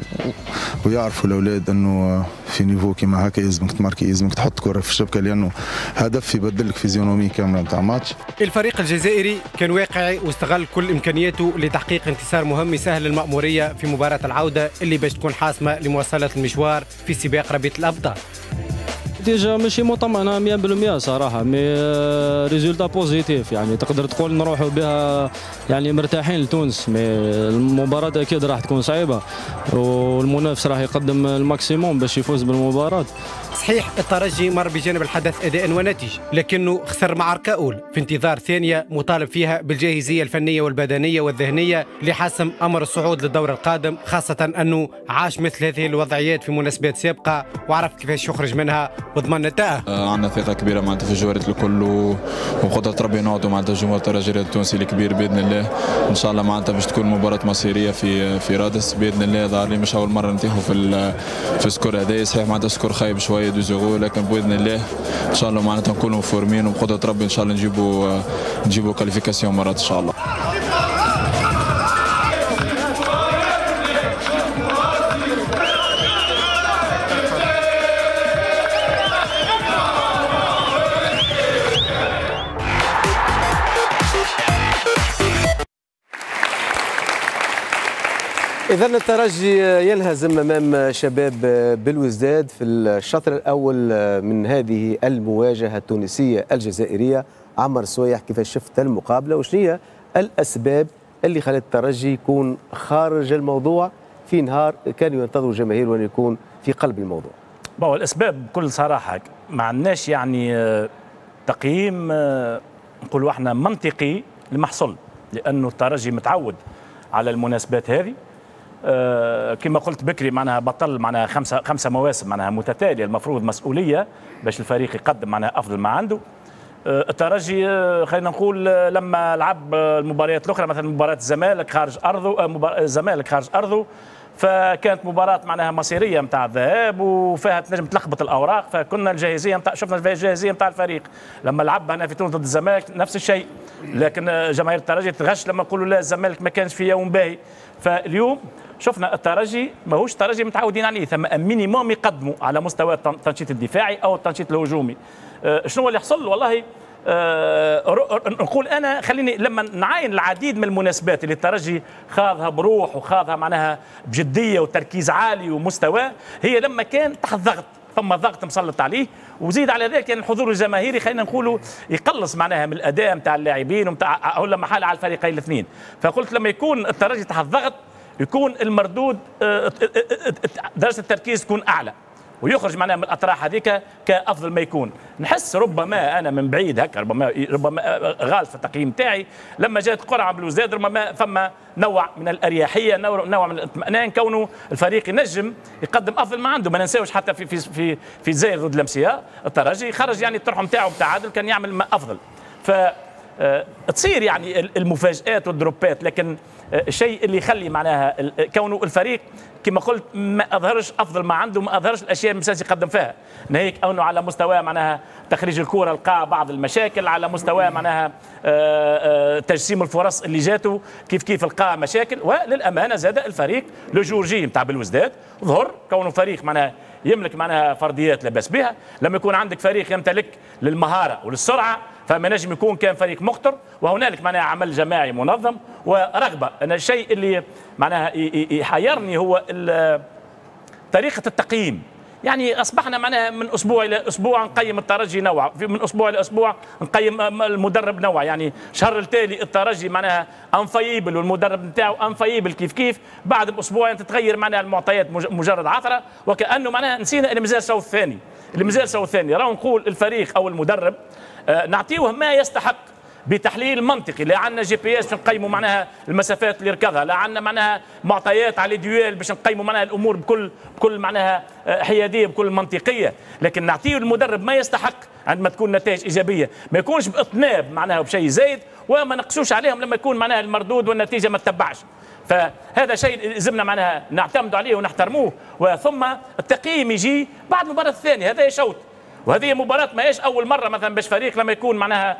ويعرفوا الاولاد انه في niveau كيما هكا يلزمك تماركي، يلزمك تحط كره في الشبكة، لانه هدف يبدل لك physionomie كاملة نتاع ماتش. الفريق الجزائري كان واقعي واستغل كل امكانياته لتحقيق انتصار مهم يسهل المأموريه في مباراة العودة اللي باش تكون حاسمة لمواصلة المشوار في سباق رابطه الابطال. نتيجة ماشي مطمئنة مية بالمية صراحة، mais résultat positif، يعني تقدر تقول نروحوا بها يعني مرتاحين لتونس، mais المباراة أكيد راح تكون صعيبة والمنافس راح يقدم ال maximum باش يفوز بالمباراة. صحيح الترجي مر بجانب الحدث أداء ونتيجة، لكنه خسر معركة أولى في انتظار ثانية مطالب فيها بالجاهزية الفنية والبدنية والذهنية لحسم أمر الصعود للدور القادم، خاصة أنه عاش مثل هذه الوضعيات في مناسبات سابقة وعرف كيفاش يخرج منها وضمن التأهل. عندنا ثقة كبيرة معناتها في الجوارات الكل وبقدرة ربي نعودوا معناتها جمهور الترجي التونسي الكبير بإذن الله. إن شاء الله معناتها باش تكون مباراة مصيرية في في رادس بإذن الله. ظهر لي مش أول مرة نتيحوا في في ال score هذا، صحيح معناتها score خايب شوية deux zéro، لكن باذن الله ان شاء الله معناتها نكونوا فورمين وبقدره ربي ان شاء الله نجيبوا نجيبوا qualification مرات ان شاء الله. إذا الترجي ينهزم أمام شباب بلوزداد في الشطر الأول من هذه المواجهة التونسية الجزائرية. عمر سويح، كيف شفت المقابلة وشنو هي الأسباب اللي خلت الترجي يكون خارج الموضوع في نهار كانوا ينتظروا الجماهير وأن يكون في قلب الموضوع؟ bon الأسباب بكل صراحة ما عندناش يعني تقييم نقولوا احنا منطقي لما حصل، لأنه الترجي متعود على المناسبات هذه. آه كما قلت بكري معناها بطل معناها خمسة خمسة مواسم معناها متتالية، المفروض مسؤولية باش الفريق يقدم معناها افضل ما عنده. آه الترجي آه خلينا نقول آه لما لعب المباريات الاخرى مثلا مباراة الزمالك خارج ارضه، آه الزمالك خارج ارضه فكانت مباراة معناها مصيرية نتاع الذهاب وفيها تنجم تلخبط الاوراق، فكنا الجاهزيه نتاع شفنا الجاهزيه نتاع الفريق لما لعب هنا في تونس ضد الزمالك نفس الشيء، لكن جماهير الترجي تغش لما نقولوا لا الزمالك ما كانش في يوم باهي. فاليوم شفنا الترجي ماهوش ترجي متعودين عليه، ثم minimum يقدموا على مستوى التنشيط الدفاعي او التنشيط الهجومي. شنو اللي حصل؟ والله أه نقول انا خليني لما نعاين العديد من المناسبات اللي الترجي خاضها بروح وخاضها معناها بجدية وتركيز عالي ومستوى، هي لما كان تحت ضغط، ثم ضغط مسلط عليه، وزيد على ذلك يعني الحضور الجماهيري خلينا نقولوا يقلص معناها من الاداء نتاع اللاعبين ونتاع او لما حال على الفريقين الاثنين. فقلت لما يكون الترجي تحت ضغط يكون المردود درجه التركيز تكون اعلى ويخرج معناها من الاطراح هذيك كافضل ما يكون. نحس ربما انا من بعيد هكا ربما ربما غالط في التقييم تاعي، لما جات قرعه بلوزداد ربما فما نوع من الاريحيه، نوع من الاطمئنان، كونه الفريق ينجم يقدم افضل ما عنده. ما ننساوش حتى في في في في الجزائر ضد لمسيا الترجي خرج يعني الطرح نتاعو بتعادل كان يعمل ما افضل. ف تصير يعني المفاجآت والدروبات، لكن الشيء اللي يخلي معناها كونه الفريق كما قلت ما اظهرش افضل ما عنده، ما اظهرش الاشياء اللي يقدم فيها، ناهيك انه على مستوى معناها تخريج الكره لقى بعض المشاكل، على مستوى معناها تجسيم الفرص اللي جاته كيف كيف لقى مشاكل. وللامانة زاد الفريق le jour J نتاع بلوزداد ظهر كونه فريق معناها يملك معناها فرديات لا باس بها. لما يكون عندك فريق يمتلك للمهاره وللسرعه فما نجم يكون كان فريق مخطر، وهنالك معناها عمل جماعي منظم ورغبه. انا الشيء اللي معناها يحيرني هو طريقه التقييم، يعني اصبحنا معناها من اسبوع الى اسبوع نقيم الترجي نوع، من اسبوع الى اسبوع نقيم المدرب نوع، يعني شهر التالي الترجي معناها infaillible والمدرب نتاعو infaillible كيف كيف، بعد باسبوعين تتغير معناها المعطيات مجرد عثره، وكانه معناها نسينا اللي مازال الشوط الثاني، اللي مازال الشوط الثاني. راهو نقول الفريق او المدرب نعطيوه ما يستحق بتحليل منطقي، لا عندنا GPS باش نقيموا معناها المسافات اللي ركضها، لا عندنا معناها معطيات على duels باش نقيموا معناها الامور بكل بكل معناها حيادية بكل منطقية، لكن نعطيه المدرب ما يستحق عندما تكون نتائج ايجابية، ما يكونش باطناب معناها بشيء زايد، وما نقصوش عليهم لما يكون معناها المردود والنتيجة ما تتبعش. فهذا شيء لازمنا معناها نعتمد عليه ونحترموه، وثم التقييم يجي بعد المباراة الثانية. هذا شوط، وهذه مباراة ما هيش أول مرة مثلا باش فريق لما يكون معناها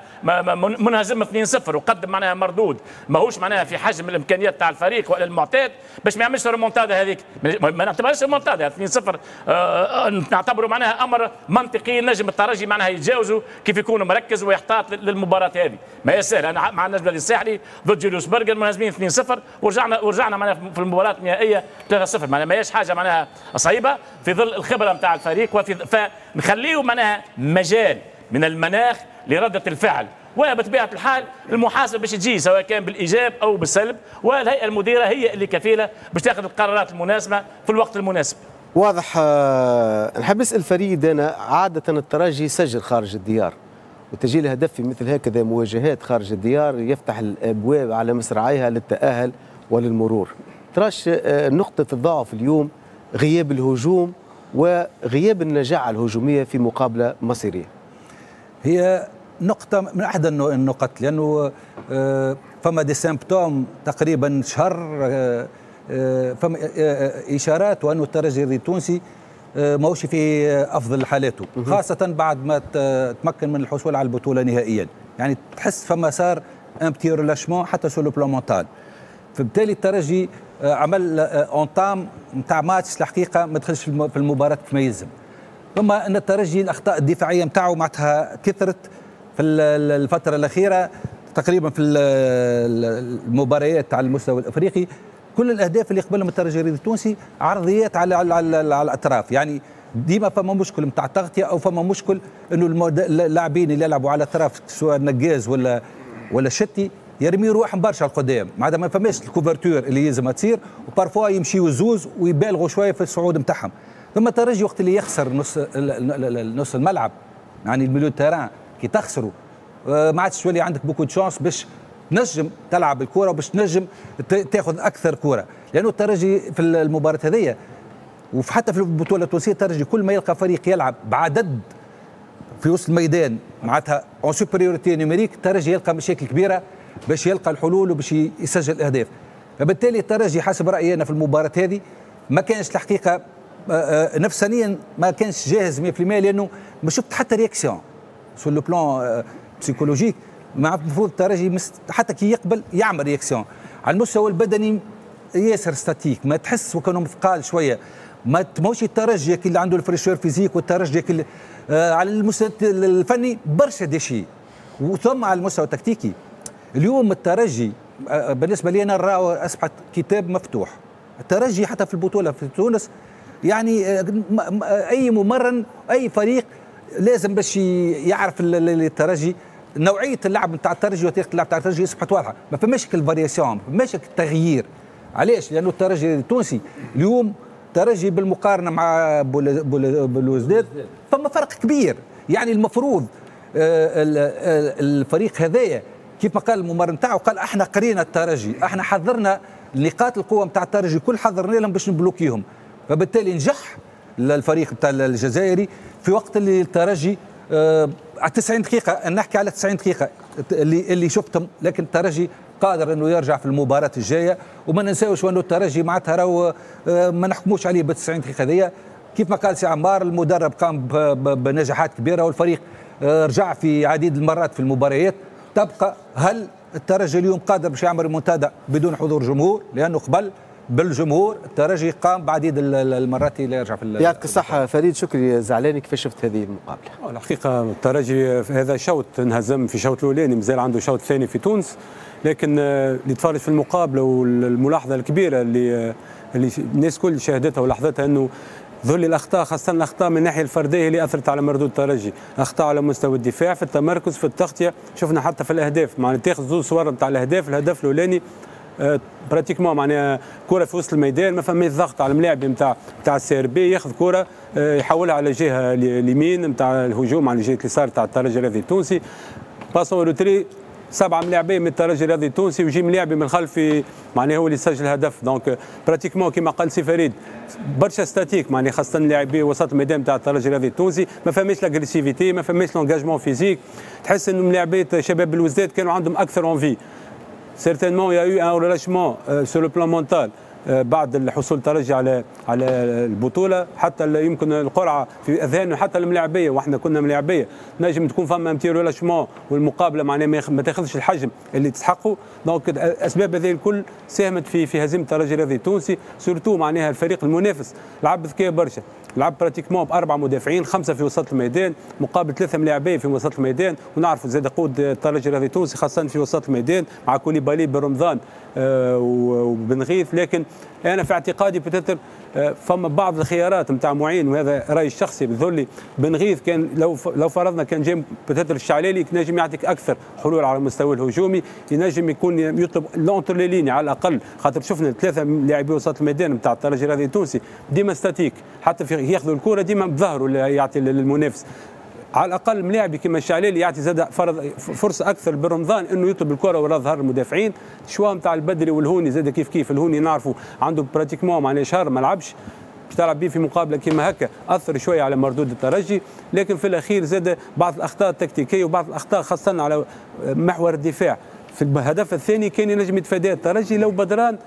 منهزم اثنين صفر وقدم معناها مردود ماهوش معناها في حجم الإمكانيات تاع الفريق ولا المعتاد باش ما يعملش ريمونتادا هذيك، ما نعتبرهاش ريمونتادا اثنين صفر، آه نعتبره معناها أمر منطقي نجم الترجي معناها يتجاوزه كيف يكون مركز ويحتاط للمباراة هذه. ما هي سهلة، أنا مع النجم الساحلي ضد جوليوس برجر منهزمين اثنين صفر ورجعنا ورجعنا معناها في المباراة النهائية ثلاثة صفر، معناها ما هيش حاجة معناها صعيبة في ظل الخبرة نتاع الفريق، وفي فنخليه معناها مجال من المناخ لردة الفعل، وبطبيعة الحال المحاسبة باش تجي سواء كان بالإيجاب أو بالسلب، والهيئة المديرة هي اللي كفيلة باش تاخذ القرارات المناسبة في الوقت المناسب. واضح. نحب نسأل فريد، أنا عادة الترجي يسجل خارج الديار، وتسجيل هدف في مثل هكذا مواجهات خارج الديار يفتح الأبواب على مصراعيها للتأهل وللمرور. تراش نقطة الضعف اليوم غياب الهجوم وغياب النجاعة الهجومية في مقابلة مصيرية. هي نقطة من أحد النقط، لأنه فما des symptômes تقريبا شهر، فما إشارات وأنه الترجي التونسي ماهوش في أفضل حالاته، خاصة بعد ما تمكن من الحصول على البطولة نهائيا، يعني تحس فما صار un petit relâchement حتى sur le plan mental. فبالتالي الترجي عمل entame نتاع ماتش الحقيقة ما دخلش في المباراة كما يلزم. ثم ان الترجي الاخطاء الدفاعية نتاعو معناتها كثرت في الفترة الاخيرة تقريبا في المباريات على المستوى الافريقي، كل الاهداف اللي قبلهم الترجي التونسي عرضيات على على, على, على الاطراف، يعني ديما فما مشكل نتاع تغطيه او فما مشكل انه اللاعبين اللي يلعبوا على الاطراف سواء نقاز ولا ولا شتي يرميوا روحهم برشا القدام، معناتها ما فماش ال couverture اللي يلزمها تصير، و parfois يمشيوا زوز ويبالغوا شوية في الصعود نتاعهم. ثم الترجي وقت اللي يخسر نص نص الملعب، يعني ال milieu terrain كي تخسروا ما عادش تولي عندك beaucoup de chances باش تنجم تلعب الكره وباش تنجم تاخذ اكثر كره، لانه الترجي في المباراة هذيا وحتى في البطولة التونسية الترجي كل ما يلقى فريق يلعب بعدد في وسط الميدان معناتها en supériorité numérique، الترجي يلقى مشاكل كبيرة باش يلقى الحلول وباش يسجل الاهداف. فبالتالي الترجي حسب رايي انا في المباراة هذه ما كانش الحقيقة نفسانيا ما كانش جاهز مية بالمية، لانه ما شفت حتى réaction sur le plan psychologique. مع المفروض الترجي حتى كي يقبل يعمل réaction. على المستوى البدني ياسر statique، ما تحس وكانوا مثقال شوية، ما ماهوش الترجي اللي عنده ال fraîcheur physique، والترجي اللي آه على المستوى الفني برشا déchets، وثم على المستوى التكتيكي. اليوم الترجي آه بالنسبة لي انا راهو اصبحت كتاب مفتوح. الترجي حتى في البطولة في تونس يعني آه اي ممرن اي فريق لازم باش يعرف الترجي، نوعية اللعب نتاع الترجي وطريقه اللعب نتاع الترجي اصبحت واضحة، ما فماش ال variation، ما فماش التغيير. علاش؟ لانه الترجي التونسي اليوم ترجي بالمقارنة مع بلوزداد فما فرق كبير. يعني المفروض الفريق هذايا كيف ما قال الممرن تاعو، قال احنا قرينا الترجي، احنا حضرنا نقاط القوة نتاع الترجي كل حضرنا لهم باش نبلوكيهم، فبالتالي نجح الفريق نتاع الجزائري في وقت اللي الترجي آه على تسعين دقيقة، نحكي على تسعين دقيقة اللي اللي شفتهم، لكن الترجي قادر انه يرجع في المباراة الجاية. وما ننساوش انه الترجي معناتها راهو ما نحكموش عليه بال تسعين دقيقة هذيا. كيف ما قال سي عمار، المدرب قام بنجاحات كبيرة والفريق رجع في عديد المرات في المباريات. تبقى هل الترجي اليوم قادر باش يعمل ريمونتادا بدون حضور جمهور؟ لانه قبل بالجمهور الترجي قام بعديد المرات اللي يرجع في. يعطيك الصحة فريد شكري زعلاني، كيفاش شفت هذه المقابلة؟ الحقيقة الترجي في هذا شوط انهزم في شوط الأولاني، مازال عنده شوط ثاني في تونس، لكن اللي تفرج في المقابلة والملاحظة الكبيرة اللي اللي الناس كل شاهدتها ولاحظتها انه ذل الاخطاء، خاصة الاخطاء من الناحية الفردية اللي اثرت على مردود الترجي، اخطاء على مستوى الدفاع في التمركز في التغطية، شفنا حتى في الاهداف، معناها تاخذ زوج صور نتاع الاهداف، الهدف الاولاني pratiquement معناها كره في وسط الميدان ما فماش ضغط على الملاعب نتاع نتاع ال CRB، ياخذ كره يحولها على جهة اليمين نتاع الهجوم على جهة اليسار نتاع الترجي الرياضي التونسي، passe en retrait سبعة ملاعبين من الترجي الرياضي التونسي ويجي ملاعبي من الخلف معناها هو اللي سجل هدف. donc pratiquement كما قال سي فريد برشا statique، معناها خاصة لاعبي وسط الميدان نتاع الترجي الرياضي التونسي ما فماش l'agressivité، ما فماش l'engagement physique، تحس انه ملاعبيه شباب بلوزداد كانوا عندهم اكثر envie. Certainement, il y a eu un relâchement euh, sur le plan mental euh, بعد الحصول الترجي على على البطولة، حتى يمكن القرعة في اذهان حتى الملاعبيه، واحنا كنا ملاعبيه نجم تكون فما petit relâchement والمقابلة معناها ما تاخذش الحجم اللي تستحقه. donc الاسباب هذه الكل ساهمت في في هزيمة الترجي الرياضي التونسي، surtout معناها الفريق المنافس لعب ذكاء برشا، لعب pratiquement باربع مدافعين، خمسة في وسط الميدان مقابل ثلاثة ملاعبيه في وسط الميدان، ونعرفوا زاد قوة الترجي الرياضي التونسي خاصة في وسط الميدان مع كوليبالي برمضان آه وبن غيث. لكن انا في اعتقادي peut-être آه فما بعض الخيارات نتاع معين، وهذا رايي الشخصي بذلي، بن غيث كان لو لو فرضنا كان جاي peut-être الشعلالي نجم يعطيك اكثر حلول على المستوى الهجومي، ينجم يكون يطلب l'entre les lignes على الاقل، خاطر شفنا ثلاثة لاعبي وسط الميدان نتاع الترجي الرياضي التونسي ديما statique، حتى في ياخذوا الكره ديما بظهره اللي يعطي للمنافس. على الاقل ملاعبي كما الشعلالي يعطي زاد فرض فرصة اكثر برمضان انه يطلب الكره وراء ظهر المدافعين. choix نتاع البدري والهوني زاد كيف كيف، الهوني نعرفوا عنده pratiquement معناها شهر ما لعبش، باش تلعب به في مقابله كما هكا اثر شوية على مردود الترجي. لكن في الاخير زاد بعض الاخطاء التكتيكيه وبعض الاخطاء خاصة على محور الدفاع. في الهدف الثاني كان ينجم يتفادى الترجي لو بدران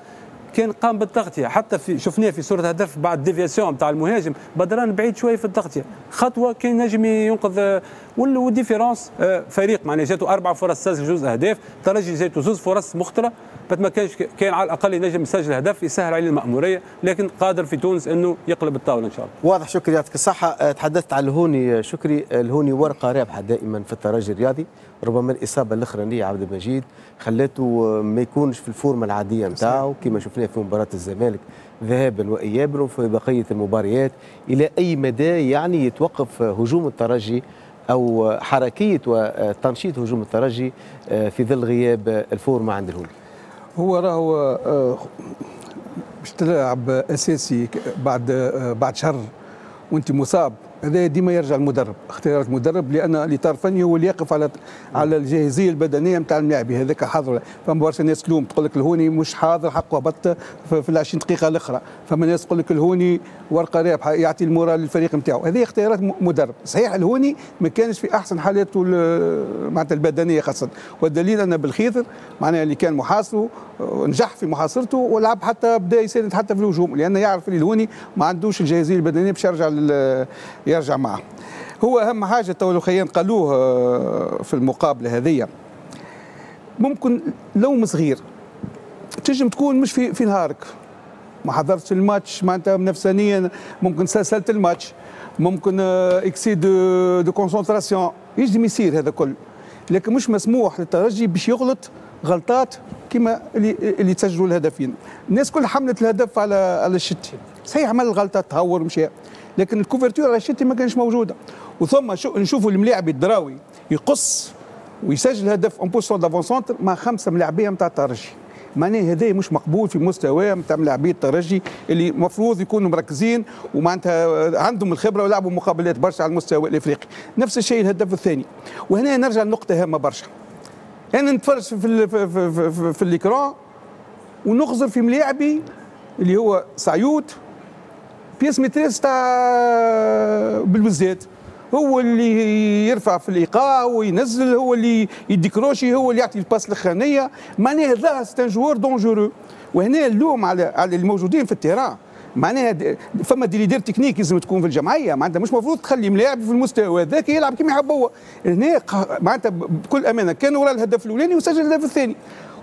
كان قام بالتغطيه، حتى في شفناه في صوره هدف بعد déviation تاع المهاجم، بدران بعيد شوية في التغطية، خطوة كان نجم ينقذ. وال différence فريق معناها جاته اربع فرص سجل جوز اهداف، الترجي جاته زوز فرص مخطره، ما كانش كان على الاقل ينجم يسجل هدف يسهل عليه المأموريه، لكن قادر في تونس انه يقلب الطاولة ان شاء الله. واضح شكري، يعطيك الصحة. تحدثت على الهوني شكري، الهوني ورقة رابحه دائما في الترجي الرياضي، ربما الاصابة الاخرانية عبد المجيد خلاته ما يكونش في ال forme العادية نتاعو كما شفناه في مباراة الزمالك ذهابا وايابا وفي بقية المباريات. الى اي مدى يعني يتوقف هجوم الترجي او حركية وتنشيط هجوم الترجي في ظل غياب ال forme عند الهوني؟ هو راهو باش تلعب اساسي بعد بعد شهر وانت مصاب هذا ديما يرجع المدرب، اختيارات المدرب، لان الاطار الفني هو اللي يقف على على الجاهزيه البدنية نتاع اللاعب هذاك حاضر. فما برشا ناس تلوم تقول لك الهوني مش حاضر حقه هبط في ال عشرين دقيقة الاخرى، فما ناس تقول لك الهوني ورقة رابحه يعطي ال moral للفريق نتاعو، هذه اختيارات مدرب. صحيح الهوني ما كانش في احسن حالاته معناتها البدنية خاصة، والدليل ان بالخيثر معناها اللي كان محاصرة نجح في محاصرته ولعب حتى بدا يساند حتى في الهجوم، لانه يعرف اللي الهوني ما عندوش الجاهزيه البدنية باش يرجع يرجع معه. هو اهم حاجة تو الخيان قالوه في المقابلة هذه، ممكن لوم صغير تنجم تكون مش في في نهارك، ما حضرتش الماتش معناتها نفسانيا، ممكن سلسلة الماتش، ممكن excès de de concentration، يجم يصير هذا كل، لكن مش مسموح للترجي باش يغلط غلطات كما اللي اللي تسجلوا الهدفين. الناس كل حملت الهدف على على الشتي، صحيح عمل الغلطة تهور ومشى، لكن ال couverture على الشتي ما كانش موجودة. وثم نشوفوا الملاعب الدراوي يقص ويسجل هدف en position d'avant-centre مع خمسة ملاعبيه نتاع الترجي، معناه هذا مش مقبول في مستوى نتاع ملاعبيه الترجي اللي المفروض يكونوا مركزين ومعناتها عندهم الخبرة ولعبوا مقابلات برشا على المستوى الافريقي. نفس الشيء الهدف الثاني. وهنا نرجع لنقطة هامة برشا، انا نتفرج في في في, في, في ال écran ونخزر في ملاعبي اللي هو سعيود pièce maîtresse تاع بالوزات، هو اللي يرفع في الايقاع وينزل، هو اللي يديكروشي، هو اللي يعطي ال passe الاخرانية، معناها هذا c'est un joueur dangereux. وهنا اللوم على على الموجودين في ال terrain، معناها فما des leaders techniques لازم تكون في الجمعية، معناتها مش المفروض تخلي ملاعب في المستوى هذاك يلعب كيما يحب هو. هنا معناتها بكل امانه كان وراء الهدف الاولاني وسجل الهدف الثاني،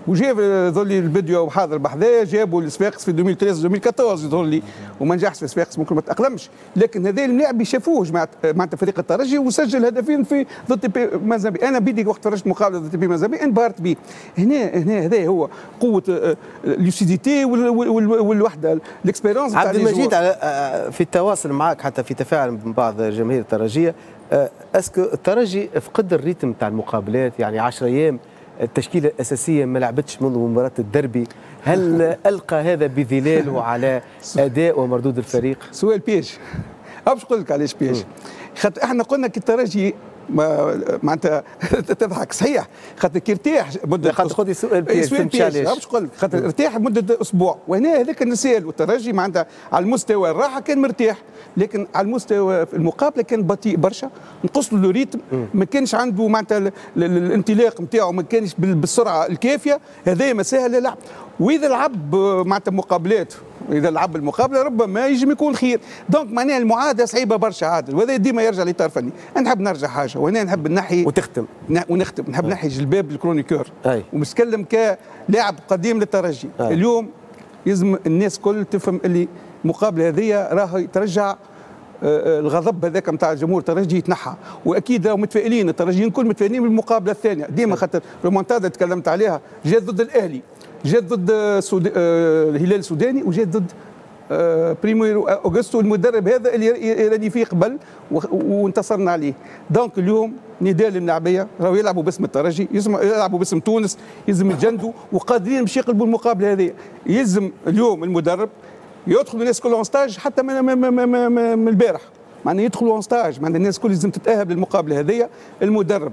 وجاب يظهر لي الفيديو وحاضر بحذاه، جابوا الصفاقس في ألفين وثلاثة ألفين وأربعطاش يظهر لي، وما نجحش في صفاقس ممكن ما تاقلمش، لكن هذا اللاعب شافوه جماعة معناتها فريق الترجي وسجل هدفين في ضد تي بي مازامبي. انا بيدي وقت فرجت مقابله ضد تي بي مازامبي انبهرت به. هنا هنا هذا هو قوة lucidité والوحدة ال expérience. عبد المجيد، في التواصل معك حتى في تفاعل من بعض جماهير الترجيه، est-ce que الترجي فقد ال rythme تاع المقابلات؟ يعني عشرة ايام التشكيلة الاساسية ما لعبتش منذ مباراة الدربي، هل القى هذا بظلاله على اداء ومردود الفريق؟ سؤال piège، باش نقول لك علاش piège. خاطر احنا قلنا كي الترجي معناتها تضحك صحيح، خاطر كي ارتاح مده، خاطر خذي سؤال piège، سؤال piège باش نقول لك، خاطر ارتاح مده اسبوع، وهنا هذاك النسال والترجي معناتها على المستوى الراحة كان مرتاح، لكن على المستوى المقابلة كان بطيء برشا، نقص له rythme، ما كانش عنده معناتها الانطلاق نتاعو ما كانش بالسرعة الكافيه، هذا ما سهل للعب. واذا لعب معناتها مقابلات، اذا لعب المقابلة ربما يجم يكون خير. donc معناها المعادلة صعيبة برشا عادل، وهذا ديما يرجع للاطار الفني. انا نحب نرجع حاجة، وهنا نحب نحي وتختم ونختم، نحب نحي جلباب ال chroniqueur ومتكلم كلاعب قديم للترجي. أي. اليوم لازم الناس كل تفهم اللي المقابلة هذه راهي ترجع الغضب هذاك نتاع جمهور الترجي يتنحى، واكيد راهم متفائلين الترجيين كل متفائلين بالمقابلة الثانية ديما، خاطر ريمونتادا تكلمت عليها، جات ضد الاهلي، جات ضد سود... الهلال السوداني، وجات ضد بريميرو اوغستو المدرب هذا اللي راني فيه قبل وانتصرنا عليه. donc اليوم نداء للملاعبيه، راهو يلعبوا باسم الترجي، يلعبوا باسم تونس، يلزم يتجندوا وقادرين باش يقلبوا المقابلة هذه. يلزم اليوم المدرب يدخلوا الناس كلهم stage حتى من, من, من, من البارح، معناها يدخلوا en stage، معناها الناس الكل لازم تتاهب للمقابله هذه. المدرب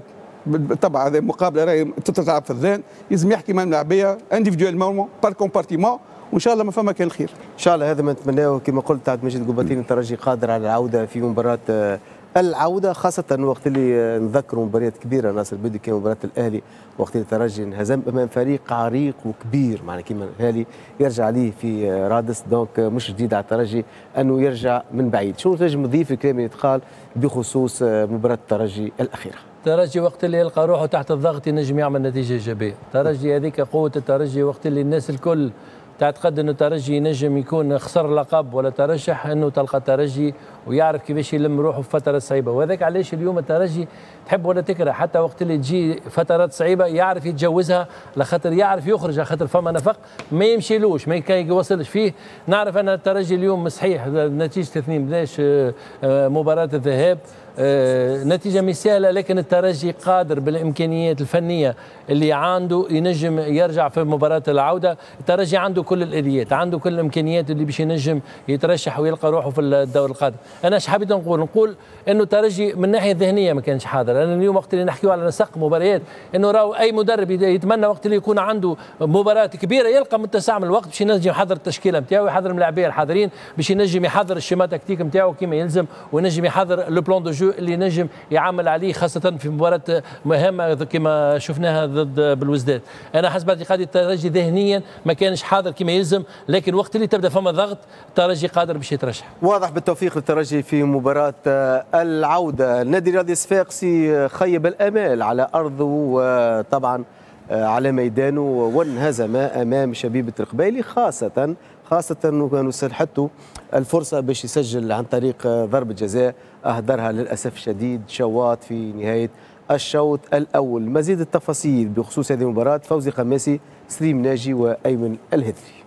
طبعا هذه المقابلة راهي تتلعب في الذهن، لازم يحكي مع الملاعبيه individuellement par compartiment، وان شاء الله ما فما كان الخير. ان شاء الله هذا ما نتمناه. كما قلت عبد المجيد قباطين، الترجي قادر على العودة في مباراة العودة، خاصة وقت اللي نذكروا مباريات كبيرة ناصر البدوي كما مباراة الاهلي، وقت اللي الترجي انهزم امام فريق عريق وكبير معنا كما الاهلي يرجع عليه في رادس، donc مش جديد على الترجي انه يرجع من بعيد. شنو تنجم تضيف الكلام اللي تقال بخصوص مباراة الترجي الاخيرة؟ الترجي وقت اللي يلقى روحه تحت الضغط ينجم يعمل نتيجة ايجابية، الترجي هذيك قوة الترجي، وقت اللي الناس الكل تعتقد انه الترجي ينجم يكون خسر لقب ولا ترشح، انه تلقى الترجي ويعرف كيفاش يلم روحه في فترة صعيبة، وهذاك علاش اليوم الترجي تحب ولا تكره حتى وقت اللي تجي فترات صعيبة يعرف يتجوزها، لخاطر يعرف يخرج، خاطر فما نفق ما يمشيلوش ما يوصلش فيه. نعرف ان الترجي اليوم صحيح نتيجة اثنين بلاش مباراة الذهاب، نتيجة مش سهلة، لكن الترجي قادر بالإمكانيات الفنية اللي عنده ينجم يرجع في مباراة العودة. الترجي عنده كل الآليات، عنده كل الإمكانيات اللي باش ينجم يترشح ويلقى روحه في الدور القادم. أنا اش حبيت نقول؟ نقول إنه الترجي من الناحية الذهنية ما كانش حاضر. أنا اليوم وقت اللي نحكيو على نسق مباريات، إنه راهو أي مدرب يتمنى وقت اللي يكون عنده مباراة كبيرة يلقى متسع من الوقت باش ينجم يحضر التشكيلة نتاعو، يحضر الملاعبية الحاضرين، باش ينجم يحضر ال schéma tactique نتاعو كما يلزم، وينجم يحضر le plan de jeu اللي ينجم يعمل عليه، خاصة في مباراة مهمة كما شفناها ضد بلوزداد. أنا حسب اعتقادي الترجي ذهنيا ما كانش حاضر كما يلزم، لكن وقت اللي تبدا فما ضغط الترجي قادر باش يترشح. واضح. بالتوفيق للترجي في مباراة العودة. النادي الرياضي الصفاقسي خيب الآمال على أرضه وطبعا على ميدانه، وانهزم أمام شبيبة القبائلي، خاصة خاصة أنه كانوا سنحته الفرصة باش يسجل عن طريق ضربة جزاء أهدرها للأسف الشديد شواط في نهاية الشوط الأول. مزيد التفاصيل بخصوص هذه المباراة فوزي خماسي، سليم ناجي، وأيمن الهذري.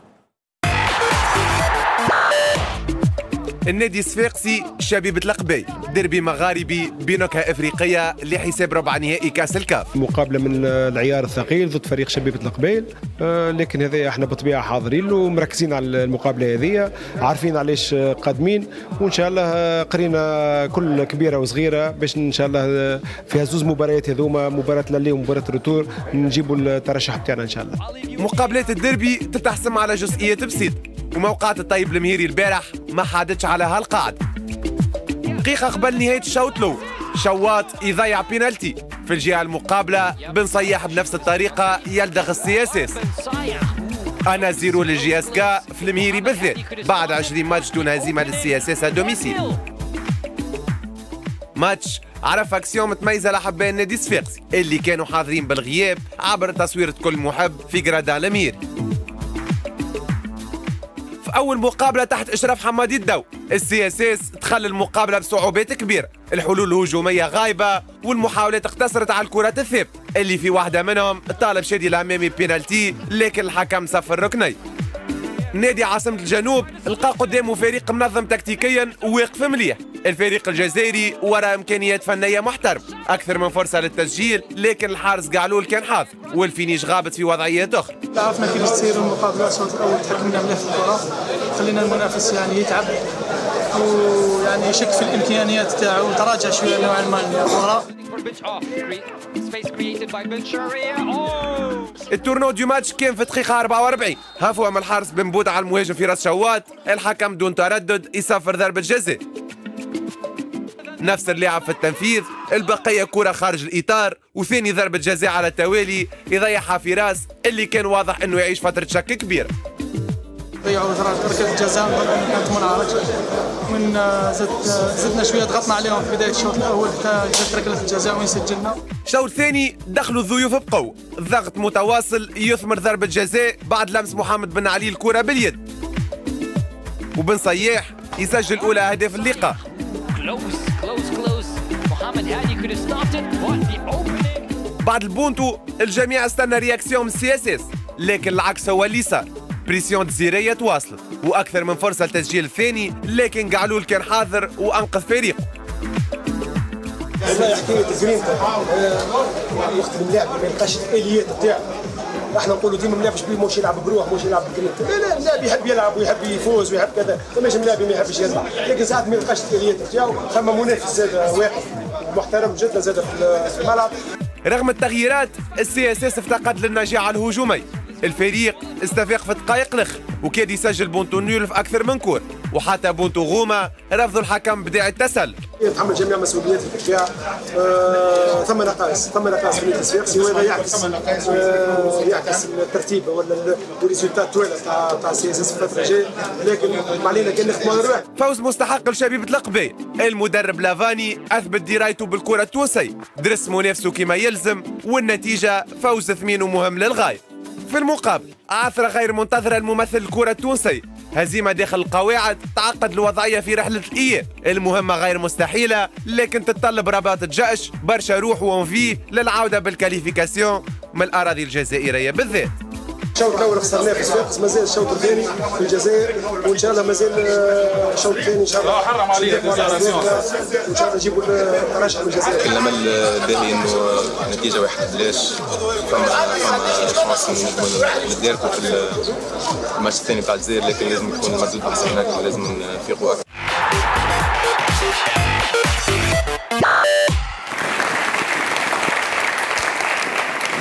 النادي الصفاقسي شبيبة القبائل، ديربي مغاربي بنكهة إفريقية لحساب ربع نهائي كأس الكاف. مقابلة من العيار الثقيل ضد فريق شبيبة القبائل، آه لكن هذا احنا بالطبيعة حاضرين ومركزين على المقابلة هذه، عارفين علاش قادمين، وإن شاء الله قرينا كل كبيرة وصغيرة باش إن شاء الله في زوز مباريات هذوما، مباراة l'aller ومباراة ال retour، نجيبوا الترشح بتاعنا إن شاء الله. مقابلات الديربي تتحسم على جزئيات بسيطة، وموقعة الطيب المهيري البارح ما حادتش على هالقاعدة. دقيقة قبل نهاية الشوط الأول شواط يضيع بينالتي، في الجهة المقابلة بن صياح بنفس الطريقة يلدغ ال CSS. un à zéro لل JSK في المهيري بالذات بعد عشرين ماتش دون هزيمة لل CSS à domicile. ماتش عرف اكسيون متميزة لحبان النادي الصفاقسي اللي كانوا حاضرين بالغياب عبر تصويرة كل محب في gradins المهيري. في أول مقابلة تحت إشراف حمادي الدو، ال CSS دخل المقابلة بصعوبات كبيرة، الحلول الهجومية غايبة والمحاولات اقتصرت على الكرات الثابتة اللي في واحدة منهم طالب شادي العمامي بينالتي لكن الحكم صفر ركني. نادي عاصمة الجنوب لقى قدامه فريق منظم تكتيكيا وواقف مليح، الفريق الجزائري وراء إمكانيات فنية محترمة، أكثر من فرصة للتسجيل لكن الحارس قعلول كان حاضر وال finish غابت في وضعيات أخرى. عرفنا كيفاش تصير المقابلة، الشوط الأول تحكمنا مليح في الكرة، خلينا المنافس يعني يتعب ويعني يشك في الإمكانيات تاعو وتراجع شوية نوعا ما الكرة. ال tournant du match كان في دقيقة أربعة وأربعين، هفوة من الحارس بن بود على المهاجم في راس شواط، الحكم دون تردد يصفر ضربة جزاء. نفس اللاعب في التنفيذ، البقية كرة خارج الإطار، وثاني ضربة جزاء على التوالي يضيعها في راس اللي كان واضح أنه يعيش فترة شك كبيرة. ضيعوا ركلة جزاء كانت منعرج، من زد زدنا شوية ضغطنا عليهم في بداية الشوط الأول حتى جات ركلة الجزاء وين سجلنا. الشوط الثاني دخلوا الضيوف بقوة، الضغط متواصل يثمر ضربة جزاء بعد لمس محمد بن علي الكرة باليد. وبن صياح يسجل أولى أهداف اللقاء. بعد البونتو الجميع استنى réaction من ال CSS، لكن العكس هو اللي صار. pression جزيرية تواصلت واكثر من فرصة للتسجيل الثاني، لكن قعلول كان حاضر وانقذ فريقه. والله حكاية جرينتا وقت الملاعب ما يلقاش الاليات تاعو، احنا نقولوا ديما ملاعب بيه مش يلعب بروح مش يلعب بجرينتا، لا لا اللاعب يحب يلعب ويحب يفوز ويحب كذا، فماش ملاعب ما يحبش يلعب، لكن ساعات ما يلقاش الاليات تاعو، ثم منافس زاد واقف محترم جدا زاد في الملعب. رغم التغييرات ال CSS افتقد للنجاعه الهجومية، الفريق استفاق في دقائق الاخر وكاد يسجل but nul في اكثر من كور، وحتى بونتو غوما رفضوا الحكم بداعي التسلل. يتحمل جميع مسؤوليات الدفاع، آه، ثم نقائص ثم نقائص في النادي الصفاقسي، وهذا يعكس آه، يعكس الترتيب ولا ال résultats الطويلة تاع تاع CSS في الفترة الجاية، لكن ما علينا كان نخدموا على رواحنا. فوز مستحق لشبيبه القبائل، المدرب لافاني اثبت درايته بالكرة التونسية، درس منافسه كما يلزم والنتيجة فوز ثمين ومهم للغاية. في المقابل عثرة غير منتظرة الممثل الكرة التونسي، هزيمة داخل القواعد تعقد الوضعية في رحلة الإياب، المهمة غير مستحيلة لكن تتطلب رباط الجأش برشا روح و envie للعودة بال qualification من الأراضي الجزائرية بالذات. إن الشوط الاول خسرناه في صفاقس، مازال الشوط الثاني في الجزائر، وان شاء الله مازال الشوط الثاني ان شاء الله حرم علينا ان شاء الله نجيبوا الترشح من الجزائر. الامل باهي انه النتيجة واحد بلاش، فما فما chance نتداركوا في الماتش الثاني بتاع الجزائر، لكن لازم يكون المردود احسن هكا ولازم نفيقوا اكثر.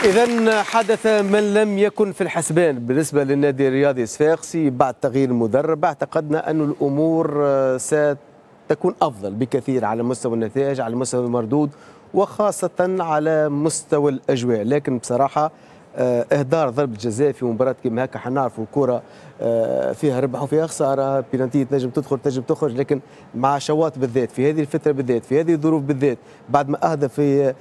إذا حدث من لم يكن في الحسبان بالنسبة للنادي الرياضي الصفاقسي بعد تغيير المدرب. اعتقدنا أن الأمور ستكون أفضل بكثير على مستوى النتائج، على مستوى المردود، وخاصة على مستوى الأجواء، لكن بصراحة إهدار ضربة جزاء في مباراة كيما هكا، حنعرفوا الكرة فيها ربح وفيها خسارة، بينالتي تنجم تدخل تنجم تخرج، لكن مع شواط بالذات في هذه الفترة بالذات في هذه الظروف بالذات، بعد ما أهدى في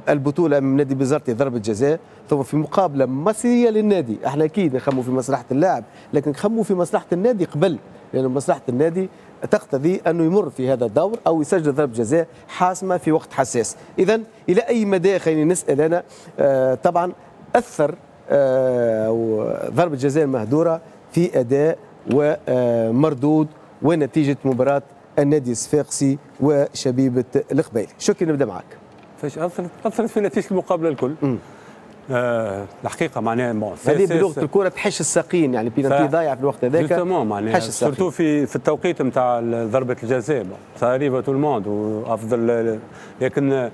البطولة من نادي بزرتي ضربة جزاء، ثم في مقابلة مصيرية للنادي، احنا أكيد نخموا في مصلحة اللاعب، لكن نخموا في مصلحة النادي قبل، لأن مصلحة النادي تقتضي أنه يمر في هذا الدور أو يسجل ضربة جزاء حاسمة في وقت حساس. إذا إلى أي مدى، خليني نسأل أنا، طبعا أثر ضربة جزاء المهدورة في أداء ومردود ونتيجة مباراة النادي الصفاقسي وشبيبة القبائل؟ شكرا، نبدأ معك. فاش أثرت أثرت في نتيجة المقابلة الكل. آه الحقيقة معناها هذه بلغة الكرة تحش الساقين، يعني بينالتي ضايع في الوقت هذاك معناها surtout في في التوقيت نتاع ضربة الجزاء، ça arrive à tout le monde وأفضل، لكن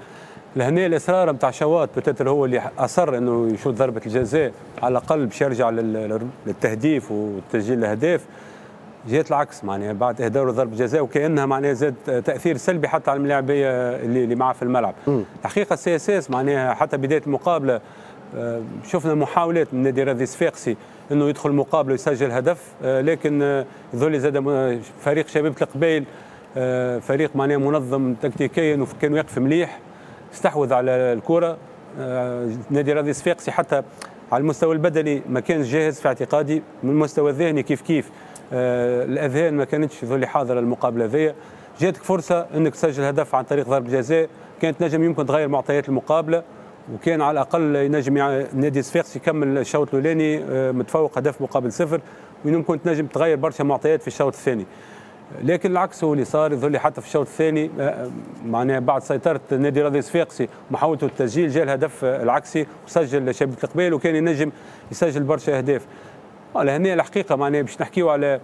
لهنا الاصرار نتاع شواط peut-être هو اللي اصر انه يشوط ضربه الجزاء على الاقل باش يرجع للتهديف وتسجيل الاهداف. جات العكس معناها بعد اهداره ضربه جزاء، وكانها معناها زاد تاثير سلبي حتى على الملاعبيه اللي اللي معاه في الملعب. الحقيقة ال CSS معناها حتى بداية المقابلة شفنا محاولات من نادي رياضي صفاقسي انه يدخل المقابلة ويسجل هدف، لكن يظل زاد فريق شبيبة القبائل فريق معناها منظم تكتيكيا وكان واقف مليح، استحوذ على الكرة. نادي رياضي صفاقسي حتى على المستوى البدني ما كانش جاهز في اعتقادي، من المستوى الذهني كيف كيف، الاذهان ما كانتش ذولي حاضره المقابلة ذي. جاتك فرصة انك تسجل هدف عن طريق ضربه جزاء، كانت نجم يمكن تغير معطيات المقابلة، وكان على الاقل ينجم نادي صفاقسي يكمل الشوط الاولاني متفوق هدف مقابل صفر، ويمكن تنجم تغير برشا معطيات في الشوط الثاني. لكن العكس هو اللي صار، يظهر لي حتى في الشوط الثاني معناها بعد سيطرة نادي رياضي صفاقسي ومحاولته التسجيل، جاء الهدف العكسي وسجل شبيبة القبائل، وكان ينجم يسجل برشا اهداف. لهنا الحقيقة معناها باش نحكيو على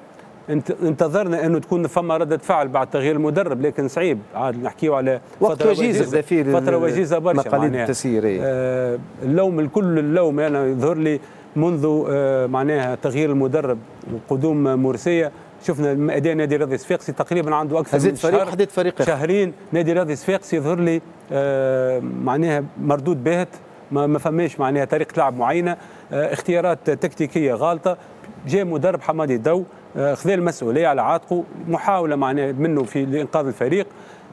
انتظرنا انه تكون فما رده فعل بعد تغيير المدرب، لكن صعيب عاد نحكيو على وقت وجيز، فترة وجيزة برشا معناها التسيير. آه اللوم الكل اللوم انا يظهر لي منذ آه معناها تغيير المدرب وقدوم مرسيه، شفنا اداء نادي رياضي صفاقسي تقريبا عنده اكثر من فريق شهر حديت فريق شهرين. نادي رياضي صفاقسي يظهر لي آه معناها مردود باهت، ما, ما فماش معناها طريقه لعب معينة، آه اختيارات تكتيكية غالطه. جاء مدرب حمادي الدو آه خذا المسؤولية على عاتقه، محاولة معناها منه في لانقاذ الفريق،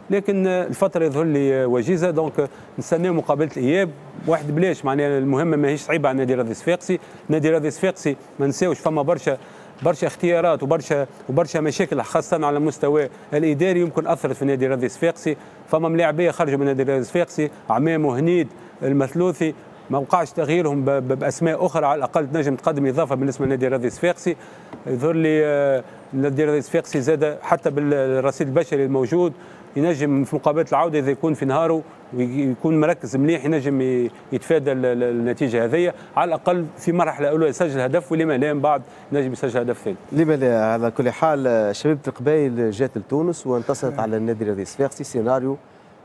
لكن الفترة يظهر لي وجيزة. donc نستناو مقابله الاياب واحد بلاش، معناها المهمة ماهيش صعيبة على نادي رياضي صفاقسي. نادي رياضي صفاقسي ما نساوش فما برشا برشا اختيارات وبرشا وبرشا مشاكل خاصة على المستوى الاداري يمكن اثرت في نادي رياضي صفاقسي. فما ملاعبيه خرجوا من نادي رياضي صفاقسي، عمام وهنيد المثلوثي، ما وقعش تغييرهم باسماء اخرى على الاقل تنجم تقدم اضافه بالنسبة لنادي رياضي صفاقسي. يظهر لي نادي رياضي صفاقسي زاد حتى بالرصيد البشري الموجود ينجم في مقابله العودة اذا يكون في نهاره ويكون مركز مليح ينجم يتفادى النتيجة هذه، على الاقل في مرحلة اولى يسجل هدف، ولما لا من بعد ينجم يسجل هدف ثاني. لما لا. على كل حال شبيبة القبائل جات لتونس وانتصرت على النادي الرياضي الصفاقسي، سيناريو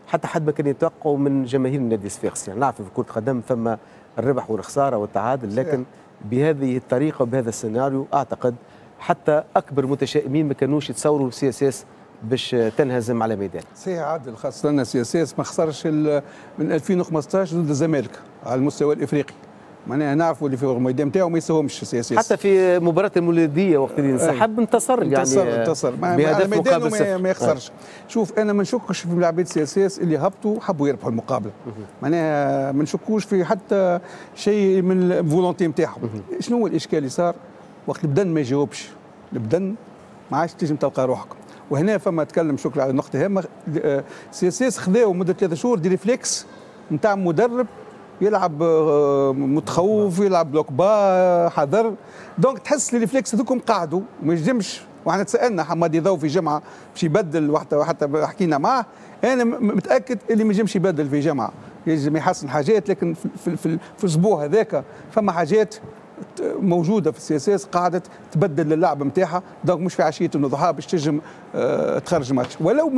حتى حد ما كان يتوقعه من جماهير النادي الصفاقسي. يعني نعرف في كرة القدم فما الربح والخسارة والتعادل، لكن بهذه الطريقة وبهذا السيناريو اعتقد حتى اكبر متشائمين ما كانوش يتصوروا CSS باش تنهزم على ميدان. صحيح عادل، خاصة CSS ما خسرش من ألفين وخمسطاش ضد الزمالك على المستوى الافريقي، معناها نعرفوا اللي في الميدان نتاعو ما يساهمش CSS. حتى في مباراة المولودية وقت اللي انسحب انتصر، يعني انتصر انتصر بهدف مقابل صفر، ما يخسرش. شوف انا ما نشكش في ملاعبيه CSS اللي هبطوا حبوا يربحوا المقابلة، معناها ما نشكوش في حتى شيء من ال volonté نتاعهم. شنو هو الاشكال اللي صار؟ وقت البدن ما يجاوبش، البدن ما عادش تنجم تلقى روحك. وهنا فما تكلم شكرا على نقطة هامة، CSS خذاو مده ثلاثة شهور des réflexes نتاع مدرب يلعب متخوف، يلعب bloc bas حذر، donc تحس les réflexes هذوكم قعدوا ما ينجمش. وحنا تسالنا حمادي ضو في جمعه باش يبدل، وحتى حتى حكينا معاه، انا متاكد اللي ما ينجمش يبدل في جمعه، ينجم يحسن حاجات، لكن في, في, في, في الاسبوع هذاك فما حاجات موجودة في ال CSS قاعدة تبدل اللعب نتاعها، donc مش في عشية الضحى باش تنجم اه تخرج ماتش. ولو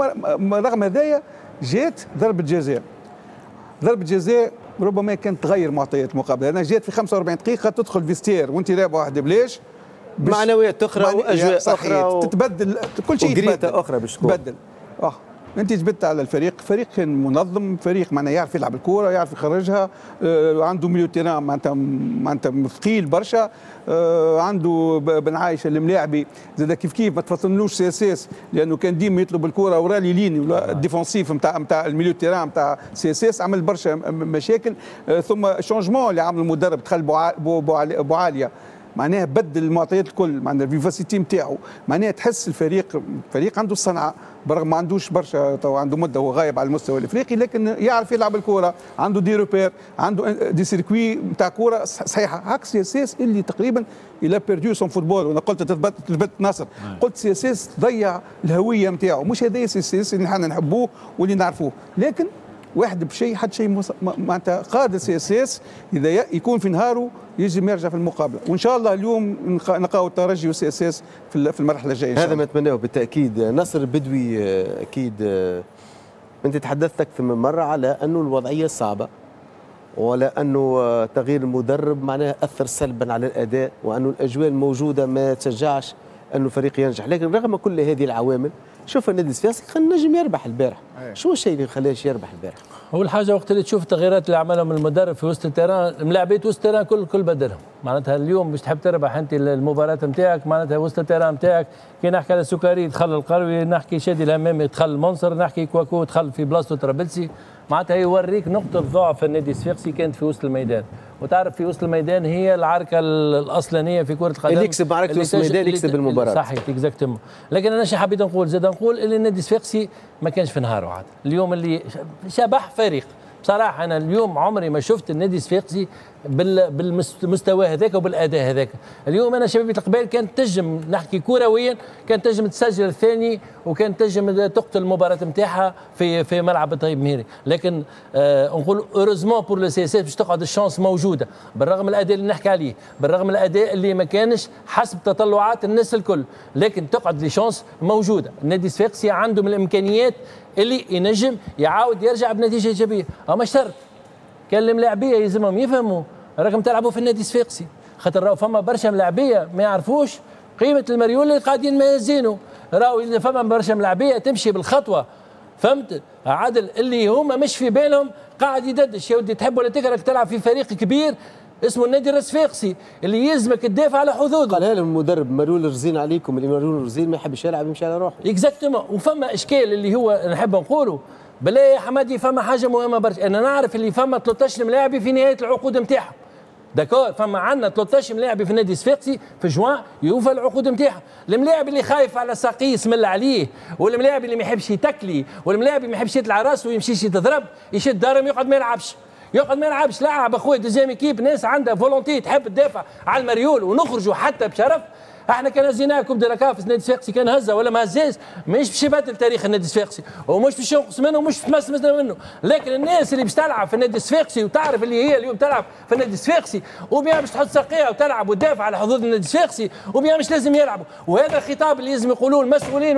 رغم هذايا جات ضربه جزاء، ضربه جزاء ربما كانت تغير معطيات المقابلة، انا جات في خمسة وأربعين دقيقة تدخل vestiaire وانت رابح واحد بلاش، معنويات اخرى واجواء اخرى و... تتبدل كل شيء، يتبدل اخرى باش تكون تبدل. اه انت جبت على الفريق، فريق كان منظم، فريق معناها يعرف يلعب الكورة، يعرف يخرجها، آه عنده milieu terrain معناتها معناتها ثقيل برشا، آه عنده بن عايشه الملاعبي زاد كيف كيف، ما تفصلنوش CSS لانه كان ديما يطلب الكورة ورا les lignes ال défensives نتاع نتاع ال milieu terrain نتاع CSS، عمل برشا مشاكل. آه ثم changement اللي عمل المدرب، دخل بوعاليه معناها بدل المعطيات الكل، معناها ال vivacité نتاعو، معناها تحس الفريق فريق عنده الصنعة، برغم ما عندوش برشا، تو عنده مده هو غايب على المستوى الافريقي، لكن يعرف يلعب الكورة، عنده des repères، عنده des circuits نتاع كورة صحيحه، عكس CSS اللي تقريبا il a perdu son football. وانا قلت تثبت تثبت ناصر، قلت CSS ضيع الهوية نتاعو، مش هذا CSS اللي احنا نحبوه واللي نعرفوه، لكن واحد بشيء حتى شيء معناتها قادر CSS اذا يكون في نهاره يجم يرجع في المقابلة، وان شاء الله اليوم نلقاو الترجي و CSS في المرحلة الجاية. هذا ما نتمناه بالتاكيد. ناصر البدوي، اكيد انت تحدثت اكثر من مرة على انه الوضعية صعبة، ولا انه تغيير المدرب معناها اثر سلبا على الاداء، وانه الاجواء الموجودة ما تشجعش انه الفريق ينجح، لكن رغم كل هذه العوامل شوف النادي الصفاقسي خلينا نجم يربح البارح. شو الشيء اللي خلاش يربح البارح؟ اول حاجة وقت اللي تشوف التغييرات اللي عملهم المدرب في وسط ال terrain، الملاعبيه وسط ال terrain كل كل بدلهم، معناتها اليوم باش تحب تربح انت المباراة نتاعك، معناتها وسط ال terrain نتاعك، كي نحكي على سكري دخل القروي، نحكي شادي الهمامي دخل المنصر، نحكي كواكو دخل في بلاصته ترابلسي، معناتها يوريك نقطة ضعف النادي الصفاقسي كانت في وسط الميدان، وتعرف في وسط الميدان هي العركه الاصلانيه في كره القدم، اللي يكسب معركة وسط الميدان يكسب المباراة. صحيح exactement. لكن انا شو حبيت نقول زاد، نقول اللي النادي الصفاقسي ما كانش في نهاره عاد، اليوم اللي شبح فريق بصراحة. انا اليوم عمري ما شفت النادي الصفاقسي بالمستوى هذاك وبالاداء هذاك. اليوم انا شبيبة القبائل كانت تنجم، نحكي كرويا، كانت تنجم تسجل الثاني وكانت تنجم تقتل المباراة نتاعها في في ملعب الطيب مهيري، لكن آه نقول heureusement pour le CSS باش تقعد ال chance موجودة، بالرغم من الاداء اللي نحكي عليه، بالرغم من الاداء اللي ما كانش حسب تطلعات الناس الكل، لكن تقعد les chances موجودة. النادي الصفاقسي عنده من الامكانيات اللي ينجم يعاود يرجع بنتيجة ايجابية، اما شرط كان الملاعبيه يلزمهم يفهموا راكم تلعبوا في النادي الصفاقسي، خاطر راهو فما برشا ملاعبيه ما يعرفوش قيمة المريول اللي قاعدين مازينه، راهو فما برشا ملاعبيه تمشي بالخطوه، فهمت عادل، اللي هما مش في بالهم قاعد يددش. يا ودي تحب ولا تكره تلعب في فريق كبير اسمه النادي الصفاقسي اللي يلزمك تدافع على حدوده. قالها لهم المدرب مريول رزين عليكم، اللي مريول رزين ما يحبش يلعب يمشي على روحه. exactement. وفما اشكال اللي هو نحب نقوله بالله يا حمادي، فما حاجة مهمة برشا، انا نعرف اللي فما ثلاثة عشر ملاعبي في نهاية العقود نتاعهم، d'accord، فما عندنا ثلاثة عشر ملاعب في النادي الصفاقسي في جوان يوفى العقود نتاعهم، الملاعب اللي خايف على ساقيه اسم عليه، والملاعب اللي ما يحبش يتكلي، والملاعب اللي ما يحبش يطلع راسه ويمشيش يتضرب، يشد دارهم يقعد ما يلعبش، يقعد ما يلعبش. لعب اخويا deuxième équipe، ناس عندها volonté تحب تدافع على المريول ونخرجوا حتى بشرف. احنا كان هزيناه coupe de la CAF، النادي الصفاقسي كان هزه ولا ما هزاش مش باش يبدل تاريخ النادي الصفاقسي، ومش باش ينقص منه ومش تمس منه، لكن الناس اللي باش تلعب في النادي الصفاقسي وتعرف اللي هي اليوم تلعب في النادي الصفاقسي ou bien باش تحط ساقيها وتلعب وتدافع على حظوظ النادي الصفاقسي ou bien مش لازم يلعبوا. وهذا الخطاب اللي لازم يقولوه المسؤولين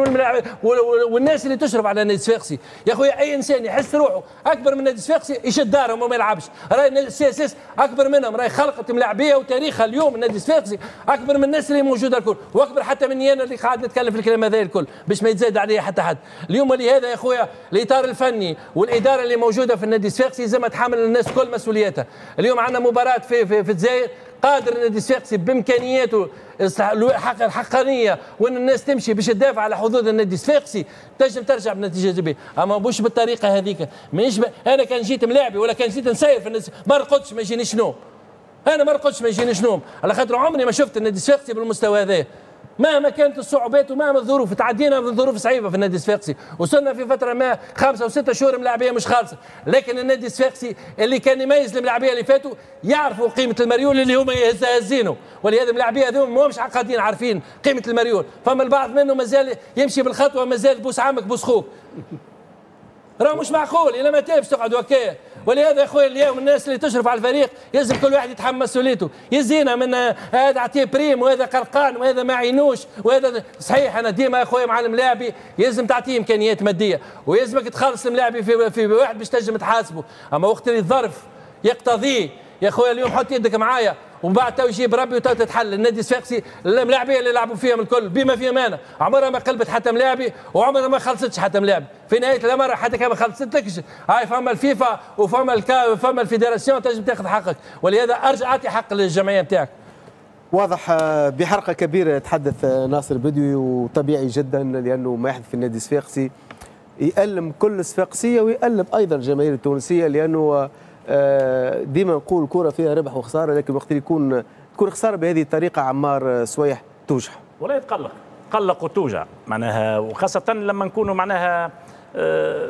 والناس اللي تشرف على النادي الصفاقسي. يا خويا اي انسان يحس روحه اكبر من النادي الصفاقسي يشد دارهم وما يلعبش، راهي ال CSS اكبر منهم، راهي خلقت ملاعبيه وتاريخها اليوم النادي الصفاقسي اكبر من الناس اللي موجودة الكل، واكبر حتى مني انا اللي قاعد نتكلم في الكلام هذا الكل باش ما يتزايد عليه حتى حد. اليوم لهذا يا خويا الاطار الفني والادارة اللي موجودة في النادي الصفاقسي لازم تحمل الناس كل مسؤوليتها. اليوم عندنا مباراة في في, في الجزائر، قادر النادي الصفاقسي بامكانياته الحقانيه وان الناس تمشي باش تدافع على حظوظ النادي الصفاقسي تنجم ترجع بنتيجة ايجابية، اما مش بالطريقة هذيك. مانيش ب... انا كان جيت ملاعبي ولا كان جيت نسير في النادي ما رقدش ما يجينيش نوم، انا ما رقدش ما يجينيش نوم، على خاطر عمري ما شفت النادي الصفاقسي بالمستوى هذا. مهما كانت الصعوبات ومهما الظروف. تعدينا من ظروف صعيبة في النادي الصفاقسي، وصلنا في فترة ما خمسة وستة شهور ملاعبيه مش خالصة، لكن النادي الصفاقسي اللي كان يميز الملاعبيه اللي فاتوا يعرفوا قيمة المريول اللي هما هزينه، ولهذا الملاعبيه هذوما ماهمش عقادين عارفين قيمة المريول، فما البعض منه مازال يمشي بالخطوه، مازال بوس عمك بوس خوك. راه مش معقول الى متى باش تقعدوا هكايا؟ ولهذا يا خويا اليوم الناس اللي تشرف على الفريق يلزم كل واحد يتحمل مسؤوليته، يزينا من هذا عطية prime وهذا قرقان وهذا ما عينوش وهذا. صحيح انا ديما يا خويا مع الملاعبي يلزم تعطيه امكانيات مادية ويلزمك تخلص الملاعبي في في واحد باش تنجم تحاسبه، اما وقت اللي الظرف يقتضيه يا خويا اليوم حط يدك معايا ومن بعد تو يجيب ربي وتو تتحل. النادي الصفاقسي الملاعبيه اللي لعبوا فيهم الكل بما فيهم انا عمرها ما قلبت حتى ملاعبي وعمرها ما خلصتش حتى ملاعبي، في نهاية الامر حتى كان ما خلصتلكش هاي فما الفيفا وفما الكا فما ال fédération تنجم تاخذ حقك، ولهذا ارجع اعطي حق للجمعية نتاعك. واضح بحرقه كبيرة يتحدث ناصر بدوي، وطبيعي جدا لانه ما يحدث في النادي الصفاقسي يألم كل الصفاقسيه ويألم ايضا الجماهير التونسية، لانه ديما نقول الكره فيها ربح وخسارة، لكن وقت اللي يكون تكون خسارة بهذه الطريقة عمار سويح توجع. والله يتقلق، قلق وتوجع معناها، وخاصة لما نكونوا معناها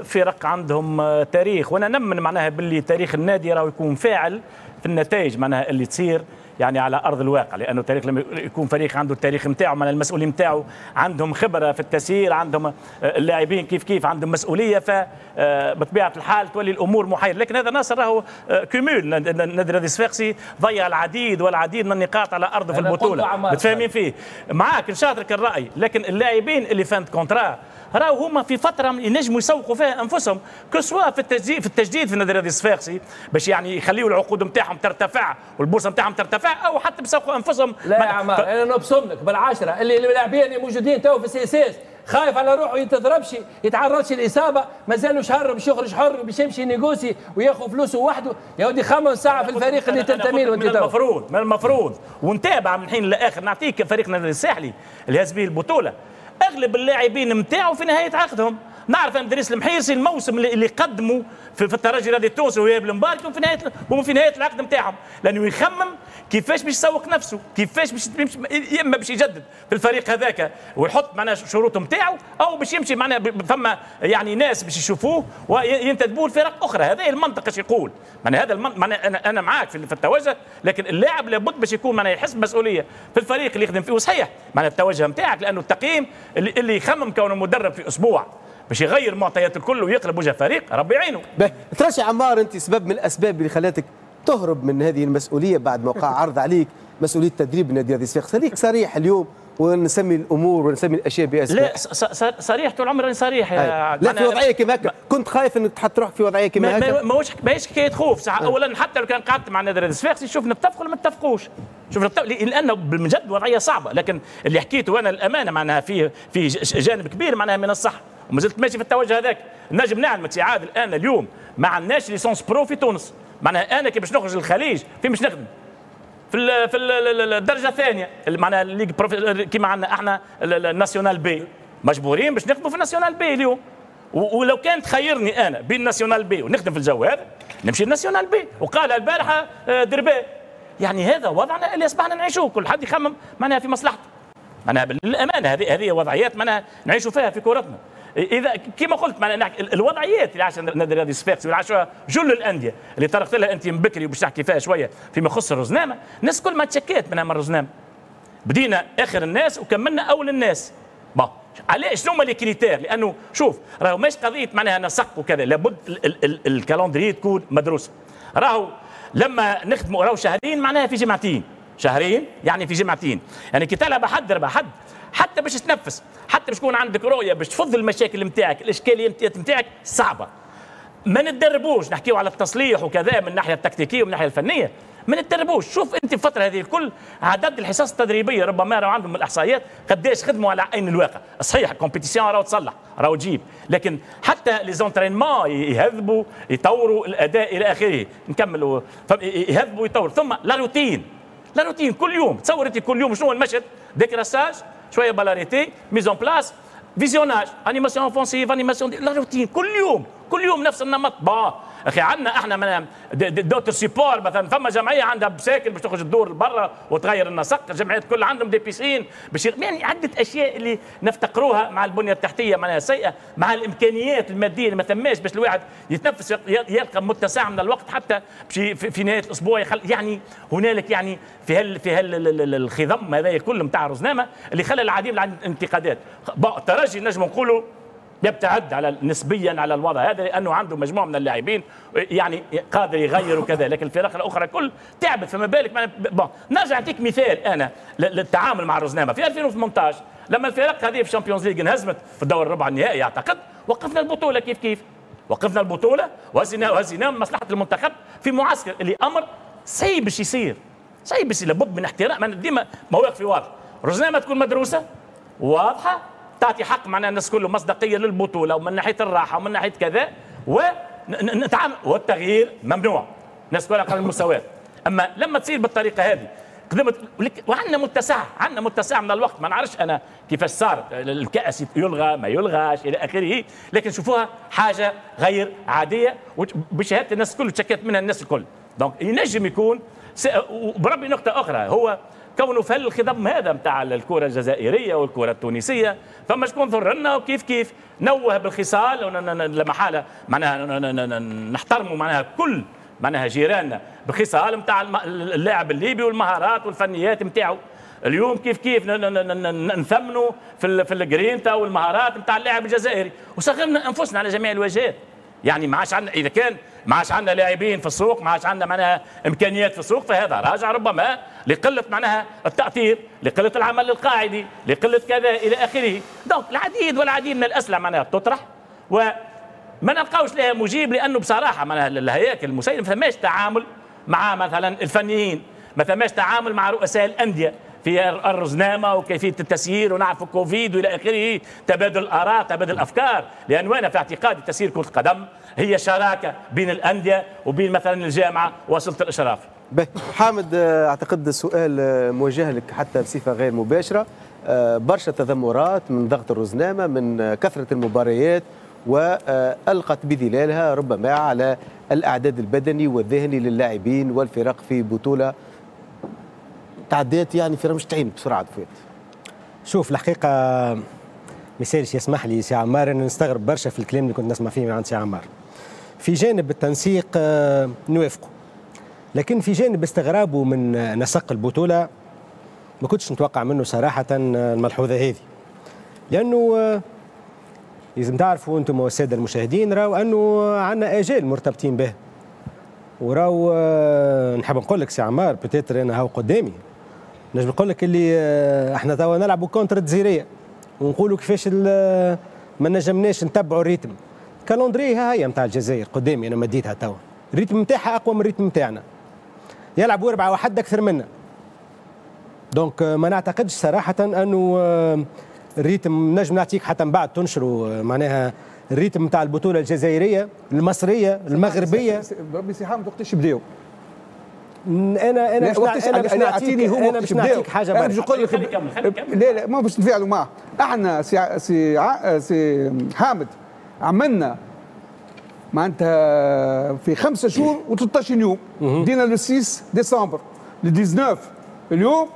فرق عندهم تاريخ، وانا نمن معناها باللي تاريخ النادي راهو يكون فاعل في النتائج معناها اللي تصير يعني على ارض الواقع، لانه التاريخ لما يكون فريق عنده التاريخ نتاعو معناها المسؤولين نتاعو عندهم خبره في التسيير، عندهم اللاعبين كيف كيف عندهم مسؤولية، فبطبيعه الحال تولي الامور محيره. لكن هذا ناصر راهو cumul، النادي الرياضي الصفاقسي ضيع العديد والعديد من النقاط على ارضه في البطولة، متفاهمين فيه معاك نشاطرك الراي، لكن اللاعبين اللي fin de contrat راهو هما في فترة ينجموا يسوقوا فيها انفسهم، que ce soit في التجديد في التجديد في النادي الرياضي الصفاقسي باش يعني يخليوا العقود نتاعهم ترتفع والبورصة نتاعهم ترتفع، او حتى بيسوقوا انفسهم. لا يا عمار انا نبصم لك بالعشرة اللي اللاعبين اللي موجودين تو في CSS خايف على روحه يتضربش يتعرضش الاصابة، مازالوا شهر باش يخرج حر باش يمشي négocier وياخذ فلوسه وحده. يا ودي خمس ساعة في الفريق اللي تنتمي له انت. من المفروض من المفروض ونتابع من حين لاخر. نعطيك فريقنا الساحلي اللي هز به البطولة اغلب اللاعبين نتاعو في نهاية عقدهم. نعرف ان دريس المحيرسي الموسم اللي قدموا في, في الترجي الرياضي التونسي وهي المبارك في نهاية هم في نهاية العقد نتاعهم، لانه يخمم كيفاش باش يسوق نفسه، كيفاش باش يا اما باش يجدد في الفريق هذاك ويحط معناها شروط نتاعو، او باش يمشي معناها فما يعني ناس باش يشوفوه وينتدبوه لفرق اخرى. هذا المنطق اش يقول معناها، هذا المنطق معناها انا انا معاك في التوجه، لكن اللاعب لابد باش يكون معناها يحس بمسؤولية في الفريق اللي يخدم فيه. وصحيح معناها التوجه نتاعك، لانه التقييم اللي, اللي يخمم كونه مدرب في اسبوع باش يغير معطيات الكل ويقلب وجه فريق، ربي يعينه. ترشي عمار، انت سبب من الاسباب اللي خلاتك تهرب من هذه المسؤولية بعد ما وقع عرض عليك مسؤولية تدريب النادي الرياضي الصفاقسي، خليك صريح اليوم ونسمي الامور ونسمي الاشياء باسماء. لا صريح طول عمري صريح يا لا في وضعية كما هكا كنت خايف انك تحط روحك في وضعية كما هكا. ماهوش ماهيش حكاية خوف صح. اولا حتى لو كان قعدت مع النادي الرياضي الصفاقسي شوف نتفقوا ولا ما نتفقوش، شوف لانه بجد وضعية صعبة، لكن اللي حكيته انا الامانة معناها فيه في جانب كبير معناها من الصح، وما زلت ماشي في التوجه هذاك. نجم نعلمك سي عادل الان اليوم ما عندناش licence pro في تونس، معناها انا كي باش نخرج للخليج فين باش نخدم؟ في ال في ال الدرجة الثانية معناها ال ligue prof كيما عندنا احنا ال nationale B، مجبورين باش نخدموا في ال nationale B اليوم. ولو كان تخيرني انا بين ال nationale B ونخدم في الجو هذا نمشي ال nationale B، وقالها البارحة دربال. يعني هذا وضعنا اللي اصبحنا نعيشوه، كل حد يخمم معناها في مصلحته. معناها بالامانة هذه هذه وضعيات معناها نعيشوا فيها في كورتنا. اذا كما قلت معناها الوضعيات اللي عاشها النادي الرياضي الصفاقسي واللي عاشوها جل الاندية اللي طرقت لها انت من بكري وباش تحكي فيها شوية فيما يخص الرزنامه، الناس كل ما تشكات منها من الرزنامه. بدينا اخر الناس وكملنا اول الناس. bon علاش شنو هما les critères؟ لانه شوف راهو ماهيش قضية معناها نسق وكذا، لابد ال calendrier تكون مدروسة. راهو لما نخدموا راهو شهرين معناها في جمعتين، شهرين يعني في جمعتين، يعني كي تلعب حد ربع حد حتى باش تنفس، حتى باش تكون عندك رؤية باش تفض المشاكل نتاعك، الاشكاليات نتاعك صعبة. ما نتدربوش، نحكيو على التصليح وكذا من الناحية التكتيكيه ومن الناحية الفنية، ما نتدربوش. شوف انت الفترة هذه الكل عدد الحصص التدريبية ربما راهو عندهم الاحصائيات قداش خدموا على عين الواقع. صحيح ال compétition راهو تصلح راهو تجيب، لكن حتى les entraînements يهذبوا يطوروا الاداء الى اخره. نكملوا يهذبوا يطوروا، ثم la routine، la routine كل يوم. تصور انت كل يوم شنو المشهد؟ décrassage، شوية balle arrêtée، mise en place، visionnage، animation offensive، animation، la routine كل يوم كل يوم نفس النمط. bon اخي عندنا احنا من d'autres supports، مثلا فما جمعية عندها بساكل باش تخرج الدور لبرا وتغير النسق، الجمعيات كل عندهم des piscines باش يعني عده اشياء اللي نفتقروها مع البنية التحتية معناها سيئه، مع الامكانيات المادية اللي ما ثماش باش الواحد يتنفس يلقى متسع من الوقت حتى في, في نهاية الاسبوع يخل يعني هنالك يعني في هال في هال الخضم هذا كله نتاع الرزنامه اللي خلى العديد من الانتقادات. الترجي نجم نقولوا يبتعد على نسبيا على الوضع هذا لانه عنده مجموعة من اللاعبين يعني قادر يغير وكذا، لكن الفرق الاخرى كل تعبت، فما بالك. bon نرجع اعطيك مثال انا للتعامل مع الرزنامه في ألفين وثمانية عشر لما الفرق هذه في ال Champions League انهزمت في الدور الربع النهائي اعتقد، وقفنا البطولة كيف كيف وقفنا البطولة وهزينا وهزينا مصلحة المنتخب في معسكر اللي امر صعيب باش يصير، صعيب باش لابد من احترام. ديما مواقفي واضحة، الرزنامه تكون مدروسة واضحة تعطي حق معناها الناس كله مصداقية للبطولة ومن ناحية الراحة ومن ناحية كذا ونتعامل، والتغيير ممنوع، الناس كلها قانون المساواة. اما لما تصير بالطريقة هذه قدمت وعندنا متسع، عندنا متسع من الوقت، ما نعرفش انا كيفاش صارت الكاس يلغى ما يلغاش الى اخره، لكن شوفوها حاجة غير عادية وبشهاده الناس الكل تشكت منها الناس الكل. donc ينجم يكون وبربي نقطة اخرى هو كونه في الخضم هذا نتاع الكره الجزائرية والكره التونسية فما شكون ضرنا وكيف كيف نوه بالخصال لما حاله معناها نحترموا معناها كل معناها جيراننا بالخصال نتاع اللاعب الليبي والمهارات والفنيات نتاعو. اليوم كيف كيف نثمنوا في في الجرينتا والمهارات نتاع اللاعب الجزائري وصغرنا انفسنا على جميع الواجهات. يعني ما عادش عندنا اذا كان ما عادش عندنا لاعبين في السوق، ما عادش عندنا معناها امكانيات في السوق، فهذا راجع ربما لقلة معناها التاثير، لقلة العمل القاعدي، لقلة كذا الى اخره. donc العديد والعديد من الاسئلة معناها تطرح وما نلقاوش لها مجيب، لانه بصراحة معناها الهياكل المسيرة ما ثماش تعامل مع مثلا الفنيين، ما ثماش تعامل مع رؤساء الاندية في الرزنامه وكيفية التسيير ونعرف كوفيد والى اخره، تبادل الاراء، تبادل الافكار، لانه انا في اعتقادي تسيير كره القدم هي شراكة بين الاندية وبين مثلا الجامعة وسلطة الاشراف. به حامد، اعتقد السؤال موجه لك حتى بصفة غير مباشرة، برشا تذمرات من ضغط الرزنامه، من كثرة المباريات والقت بظلالها ربما على الاعداد البدني والذهني للاعبين والفرق في بطوله تعديت يعني في رمش تعين بسرعة فات. شوف الحقيقة ما يسالش يسمح لي سي عمار انا نستغرب برشا في الكلام اللي كنت نسمع فيه من عند سي عمار. في جانب التنسيق نوافقه، لكن في جانب استغرابه من نسق البطولة ما كنتش نتوقع منه صراحة الملحوظة هذه، لانه لازم تعرفوا انتم والسادة المشاهدين راهو انه عندنا اجال مرتبطين به، وراو نحب نقول لك سي عمار peut-être انا هاو قدامي نجم نقول لك اللي احنا توا نلعبوا contre الجزيريه ونقولوا كيفاش ما نجمناش نتبعوا ال rythme. calendrier ها هي نتاع الجزائر قدامي انا مديتها توا، ال rythme نتاعها اقوى من ال rythme نتاعنا، يلعبوا أربعة واحد اكثر منا. donc ما نعتقدش صراحة انه ال rythme نجم نعطيك حتى من بعد تنشروا معناها ال rythme نتاع البطولة الجزائرية المصرية المغربية. بربي سي حامد وقتاش بداو؟ انا انا باش انا باش نعطيك انا باش نعطيك حاجة انا باش نقول لك لا لا ما باش نتفاعلوا معه. احنا سي سي سي حامد عملنا معناتها في خمسة شهور وثلاثة عشر يوم، بدينا le ستة ديسمبر ل تسعة عشر اليوم،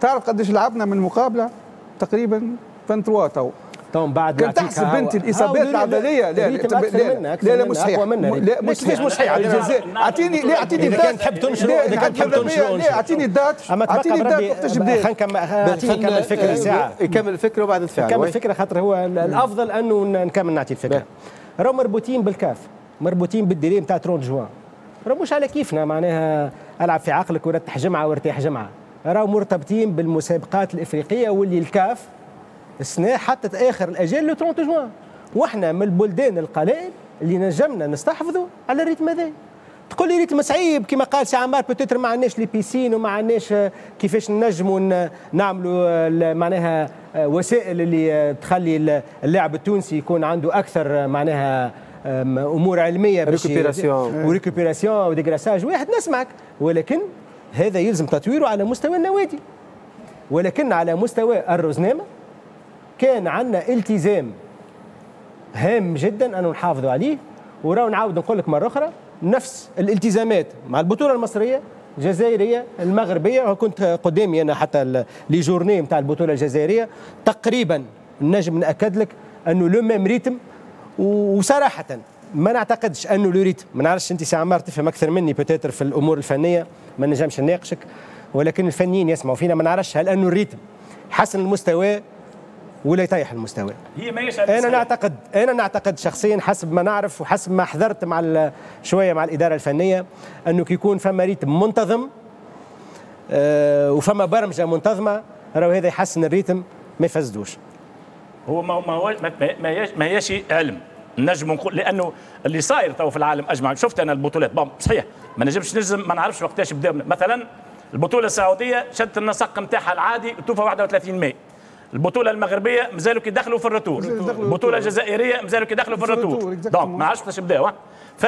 تعرف قداش لعبنا من مقابله؟ تقريبا ثلاثة وعشرين تو. تو من بعد كان تحسب انت الاصابات العضلية لا لا لا لا مش صحيح، لا مش صحيح مش صحيح. اعطيني لا اعطيني اذا كان تحب تنشر، اذا كان تحب تنشر لا اعطيني ال date، اعطيني ال date وقتاش بدا. خلينا نكمل نكمل الفكرة ساعة، يكمل الفكرة وبعد نتفاعل. نكمل الفكرة خاطر هو الافضل انه نكمل نعطي الفكرة. راهو مربوطين بالكاف، مربوطين بال délai نتاع ثلاثين جوان، راهو مش على كيفنا معناها العب في عقلك ورتح جمعه وارتاح جمعه، راهو مرتبطين بالمسابقات الافريقية واللي الكاف السنة حطت اخر الاجال le ثلاثين جوان، واحنا من البلدان القلائل اللي نجمنا نستحفظوا على ال rythme هذا. تقول لي rythme صعيب كما قال سي عمار، peut-être ما عندناش les piscines وما عندناش كيفاش نجموا نعملوا معناها وسائل اللي تخلي اللاعب التونسي يكون عنده اكثر معناها امور علمية باش récupération و récupération و dégraissage واحد نسمعك، ولكن هذا يلزم تطويره على مستوى النوادي. ولكن على مستوى الرزنامه كان عندنا التزام هام جدا أن نحافظوا عليه، وراو نعاود نقول لك مرة اخرى نفس الالتزامات مع البطولة المصرية الجزائرية المغربية، وكنت قدامي انا حتى les journées نتاع البطولة الجزائرية تقريبا نجم ناكد لك انه le même rythme. وصراحة ما نعتقدش انه le rythme، ما نعرفش انت سي عمار تفهم اكثر مني peut-être في الامور الفنية، ما نجمش نناقشك، ولكن الفنيين يسمعوا فينا، ما نعرفش هل انه ال rythme حسن المستوى ولا يطيح المستوى. هي ماهيش انا نعتقد انا نعتقد شخصيا حسب ما نعرف وحسب ما حضرت مع شوية مع الادارة الفنية انه كي يكون فما rythme منتظم آه وفما برمجة منتظمة، راهو هذا يحسن ال rythme ما يفسدوش. هو ما ما ما ما هيش علم نجم نقول، لانه اللي صاير تو في العالم اجمع. شفت انا البطولات bon صحيح ما نجمش نجزم، ما نعرفش وقتاش بدا. مثلا البطولة السعودية شدت النسق نتاعها العادي توفى واحد وثلاثين ماي. البطولة المغربية مازالوا كي دخلوا في ال retour، البطولة الجزائرية مازالوا كي دخلوا في ال retour، donc ما عرفتش وقتاش بداوا. ف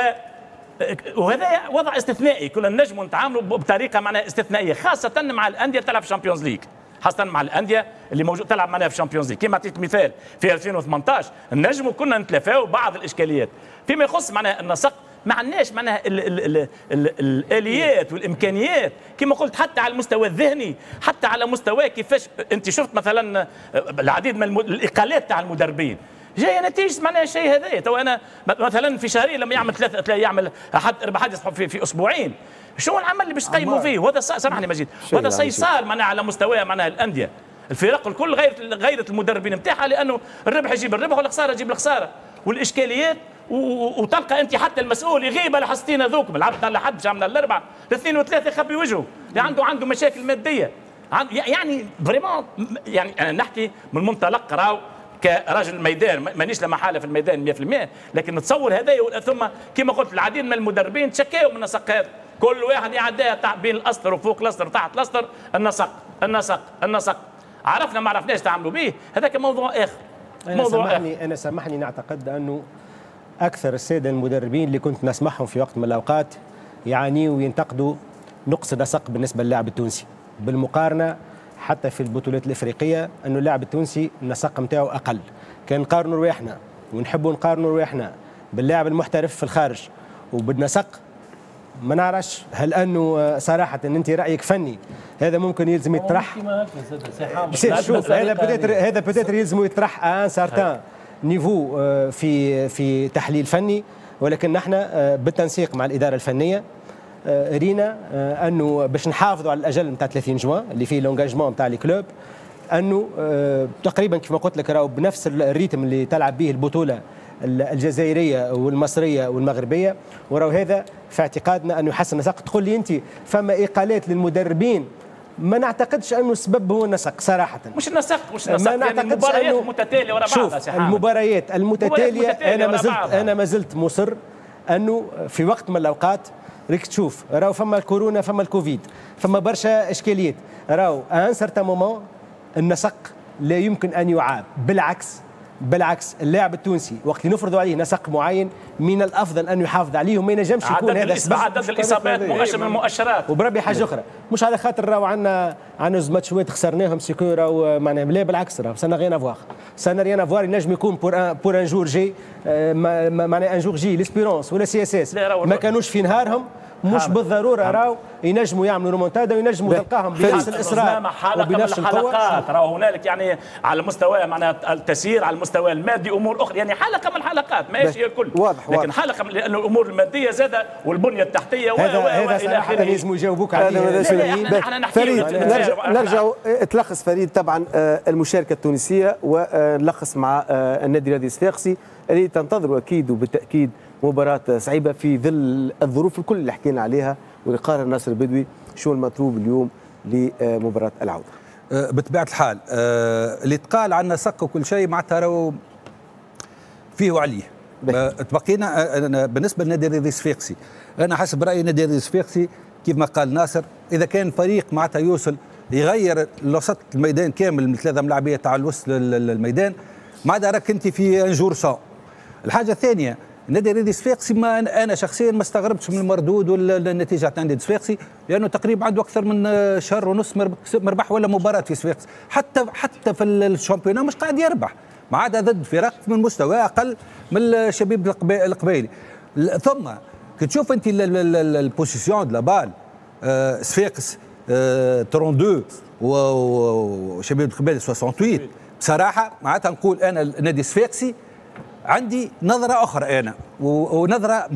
وهذا وضع استثنائي، كنا نجموا نتعاملوا بطريقة معناها استثنائية، خاصة مع الاندية تلعب في ال Champions League، خاصة مع الاندية اللي موجود تلعب معناها في ال Champions League. كما عطيت مثال في ألفين وثمنطاش نجموا كنا نتلافاو بعض الاشكاليات فيما يخص معناها النسق. ما عندناش معناها ال ال ال ال الاليات والامكانيات كما قلت، حتى على المستوى الذهني، حتى على مستوى كيفاش انت شفت مثلا العديد من الاقالات تاع المدربين جاية نتيجة معناها الشيء هذا. تو انا مثلا في شهرين لما يعمل ثلاثة يعمل احد اربع حد في, في اسبوعين، شو العمل اللي باش تقيموا فيه؟ وهذا سامحني مجيد، وهذا صار معناها على مستوى معناها الاندية، الفرق الكل غيرت غيرت المدربين نتاعها، لانه الربح يجيب الربح والخسارة تجيب الخسارة والاشكاليات. وتلقى انت حتى المسؤول يغيب على حصتين هذوك، لعبت على حد باش عملنا الاربعة، الاثنين وثلاثة يخبي وجهه، اللي عنده عنده مشاكل مادية، يعني vraiment. يعني انا نحكي من منطلق راهو كرجل ميدان، مانيش لا محالة في الميدان مية بالمية، لكن نتصور هذا. ثم كما قلت العديد من المدربين تشكاوا من النسق هذا، كل واحد يعديها بين الاسطر وفوق الاسطر وتحت الاسطر، النسق النسق النسق، عرفنا ما عرفناش تعاملوا به، هذاك موضوع اخر. أنا موضوع سامحني آخر. انا سامحني نعتقد انه اكثر السادة المدربين اللي كنت نسمعهم في وقت من الاوقات يعانيوا وينتقدوا نقص النسق بالنسبة للاعب التونسي، بالمقارنة حتى في البطولات الافريقية انه اللاعب التونسي النسق نتاعو اقل. كان نقارنوا رواحنا ونحبوا نقارنوا رواحنا باللاعب المحترف في الخارج وبالنسق، ما نعرفش هل انه صراحة ان انت رايك فني هذا ممكن يلزم يطرح. شوف هذا peut-être هذا peut-être يلزم يطرح à un certain niveau في في تحليل فني، ولكن نحن بالتنسيق مع الادارة الفنية رينا انه باش نحافظوا على الاجل نتاع ثلاثين جوان اللي فيه l'engagement نتاع les clubs، انه تقريبا كيف ما قلت لك راهو بنفس ال rythme اللي تلعب به البطولة الجزائرية والمصريه والمغربيه، وراو هذا في اعتقادنا انه يحسن النسق. تقول لي انت فما اقالات للمدربين، ما نعتقدش انه السبب هو النسق صراحة. مش النسق مش النسق، ما يعني المباريات المتتالية ورا بعضها. المباريات المتتالية انا ما زلت انا ما زلت مصر انه في وقت من الاوقات ريك تشوف راهو فما الكورونا، فما الكوفيد، فما برشا اشكاليات، راهو à un certain moment النسق لا يمكن ان يعاب. بالعكس بالعكس اللاعب التونسي وقت اللي نفرضوا عليه نسق معين من الافضل ان يحافظ عليه وما ينجمش يكون هذا السبب. عدد الاصابات مؤشر من المؤشرات. وبربي حاجة اخرى، مش على خاطر راهو عندنا عندنا زوج ماتشات خسرناهم c'est que راهو معناها، لا بالعكس راهو ça n'a rien à voir، ça n'a rien à voir. ينجم يكون pour un pour un jour J، معناها un jour J l'Espérance ولا CSS ما كانوش في نهارهم، مش بالضرورة راهو ينجموا يعملوا رومونتادا وينجموا تلقاهم بنفس الاصرار وبنفس القوة. راهو هنالك يعني على مستوى معناها التسيير، على المستوى المادي، امور اخرى، يعني حلقة من الحلقات ماهيش هي الكل. واضح لكن واضح. حلقة من لانه الامور المادية زاده والبنية التحتية و هذا هذا صراحة لازم يجاوبوك عليه. فريد نرجع نرجع تلخص فريد طبعا المشاركة التونسية، ونلخص مع النادي الرياضي الصفاقسي اللي تنتظر اكيد وبالتاكيد مباراة صعيبة في ظل الظروف الكل اللي حكينا عليها واللي قرر ناصر البدوي. شو المطلوب اليوم لمباراة العودة؟ بطبيعة الحال اللي تقال عن نسق وكل شيء معناتها راهو فيه وعليه. تبقينا بالنسبة للنادي الرياضي الصفاقسي، أنا حسب رأيي النادي الرياضي الصفاقسي كيف ما قال ناصر، إذا كان فريق معناتها يوصل يغير وسط الميدان كامل من ثلاثة ملاعبية تاع الوسط الميدان، معناتها راك أنت في un jour sans. الحاجة الثانية النادي الرياضي الصفاقسي ما انا شخصيا ما استغربتش من المردود ولا النتيجة تاع النادي الصفاقسي، لانه تقريبا عنده اكثر من شهر ونص ما ربح ولا مباراة في صفاقس، حتى حتى في ال championnat مش قاعد يربح، ما عدا ضد فرق من مستوى اقل من الشبيب القبائلي. ثم كي تشوف انت ال possession de la balle، صفاقس اثنين وثلاثين وشبيبة القبائل ثمانية وستين. بصراحة معناتها نقول انا النادي الصفاقسي عندي نظره اخرى انا ونظره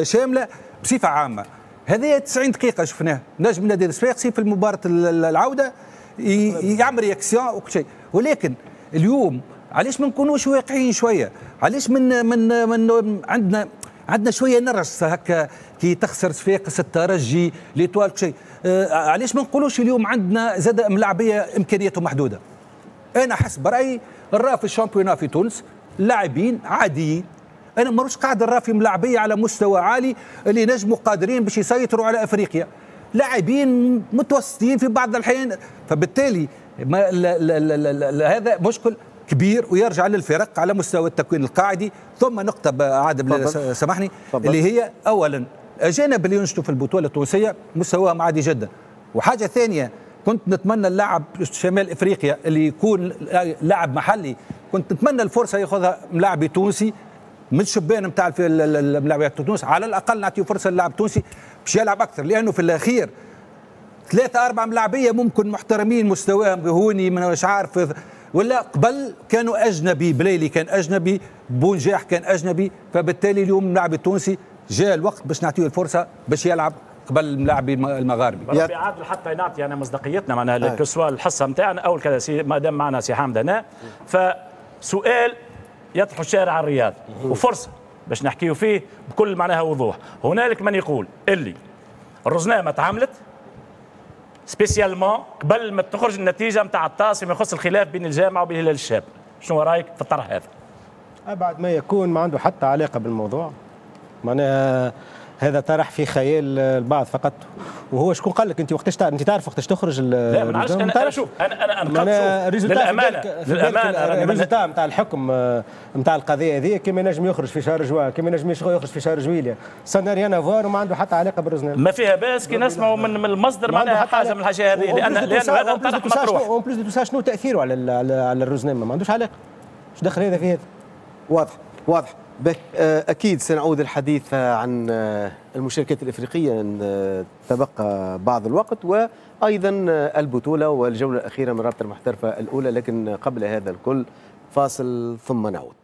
شاملة بصفة عامة. هذه تسعين دقيقة شفناها، نجم النادي الصفاقسي في المباراة العودة يعمل réaction وكل شيء، ولكن اليوم علاش ما نكونوش واقعيين شوية؟ علاش من من من عندنا عندنا شوية نرجس هكا كي تخسر صفاقس، الترجي، l'Étoile، شيء. آه علاش ما نقولوش اليوم عندنا زاد ملاعبيه امكانياتهم محدودة؟ انا حسب رايي نرى في ال championnat في تونس لاعبين عاديين. انا مانيش قاعد نرى في ملاعبيه على مستوى عالي اللي نجموا قادرين باش يسيطروا على افريقيا، لاعبين متوسطين في بعض الاحيان. فبالتالي ما لا لا لا لا هذا مشكل كبير ويرجع للفرق على مستوى التكوين القاعدي. ثم نقطة عادل سامحني، اللي هي أولا أجانب اللي ينشطوا في البطولة التونسية مستواهم عادي جدا، وحاجة ثانية كنت نتمنى اللاعب شمال افريقيا اللي يكون لاعب محلي، كنت نتمنى الفرصة ياخذها ملاعب تونسي من الشبان نتاع الملاعبيات تونس، على الاقل نعطيه فرصة للاعب التونسي باش يلعب اكثر، لانه في الاخير ثلاثة أربعة ملاعبية ممكن محترمين مستواهم هوني من مش عارف ولا قبل كانوا أجنبي، بليلي كان أجنبي، بونجاح كان أجنبي. فبالتالي اليوم اللاعب التونسي جاء الوقت باش نعطيه الفرصة باش يلعب قبل الملاعب المغاربي. ربي عادل حتى نعطي انا مصداقيتنا معناها que ce soit الحصة نتاعنا او كذا، ما دام معنا سي حامد هنا، فسؤال يطرح الشارع الرياضي وفرصه باش نحكيو فيه بكل معناها وضوح. هنالك من يقول اللي الرزنامه تعاملت spécialement قبل ما تخرج النتيجة نتاع الطاس فيما يخص الخلاف بين الجامعة وبين هلال الشاب، شنو رايك في الطرح هذا؟ ابعد ما يكون، ما عنده حتى علاقة بالموضوع. معناها هذا طرح في خيال البعض فقط. وهو شكون قال لك انت وقتاش انت تعرف وقتاش تخرج؟ لا ما نعرفش. انا, أنا شوف انا انا انا للامانة للامانة ال résultat نتاع الحكم نتاع القضية هذه كما ينجم يخرج في شهر جوان، كما ينجم يخرج في شهر جويليا، ça n'a rien à voir وما عنده حتى علاقة بالرزنامه. ما فيها باس كي نسمعوا من, من المصدر معناها حاجة من الحاجة هذه، لان لان هذا طرح مطروح. en plus de tout ça شنو تاثيره على على الرزنامه؟ ما عندوش علاقة، ايش دخل هذا في هذا؟ واضح واضح. أكيد سنعود الحديث عن المشاركات الإفريقية إن تبقى بعض الوقت، وأيضا البطولة والجولة الأخيرة من رابطة المحترفة الأولى، لكن قبل هذا الكل فاصل ثم نعود.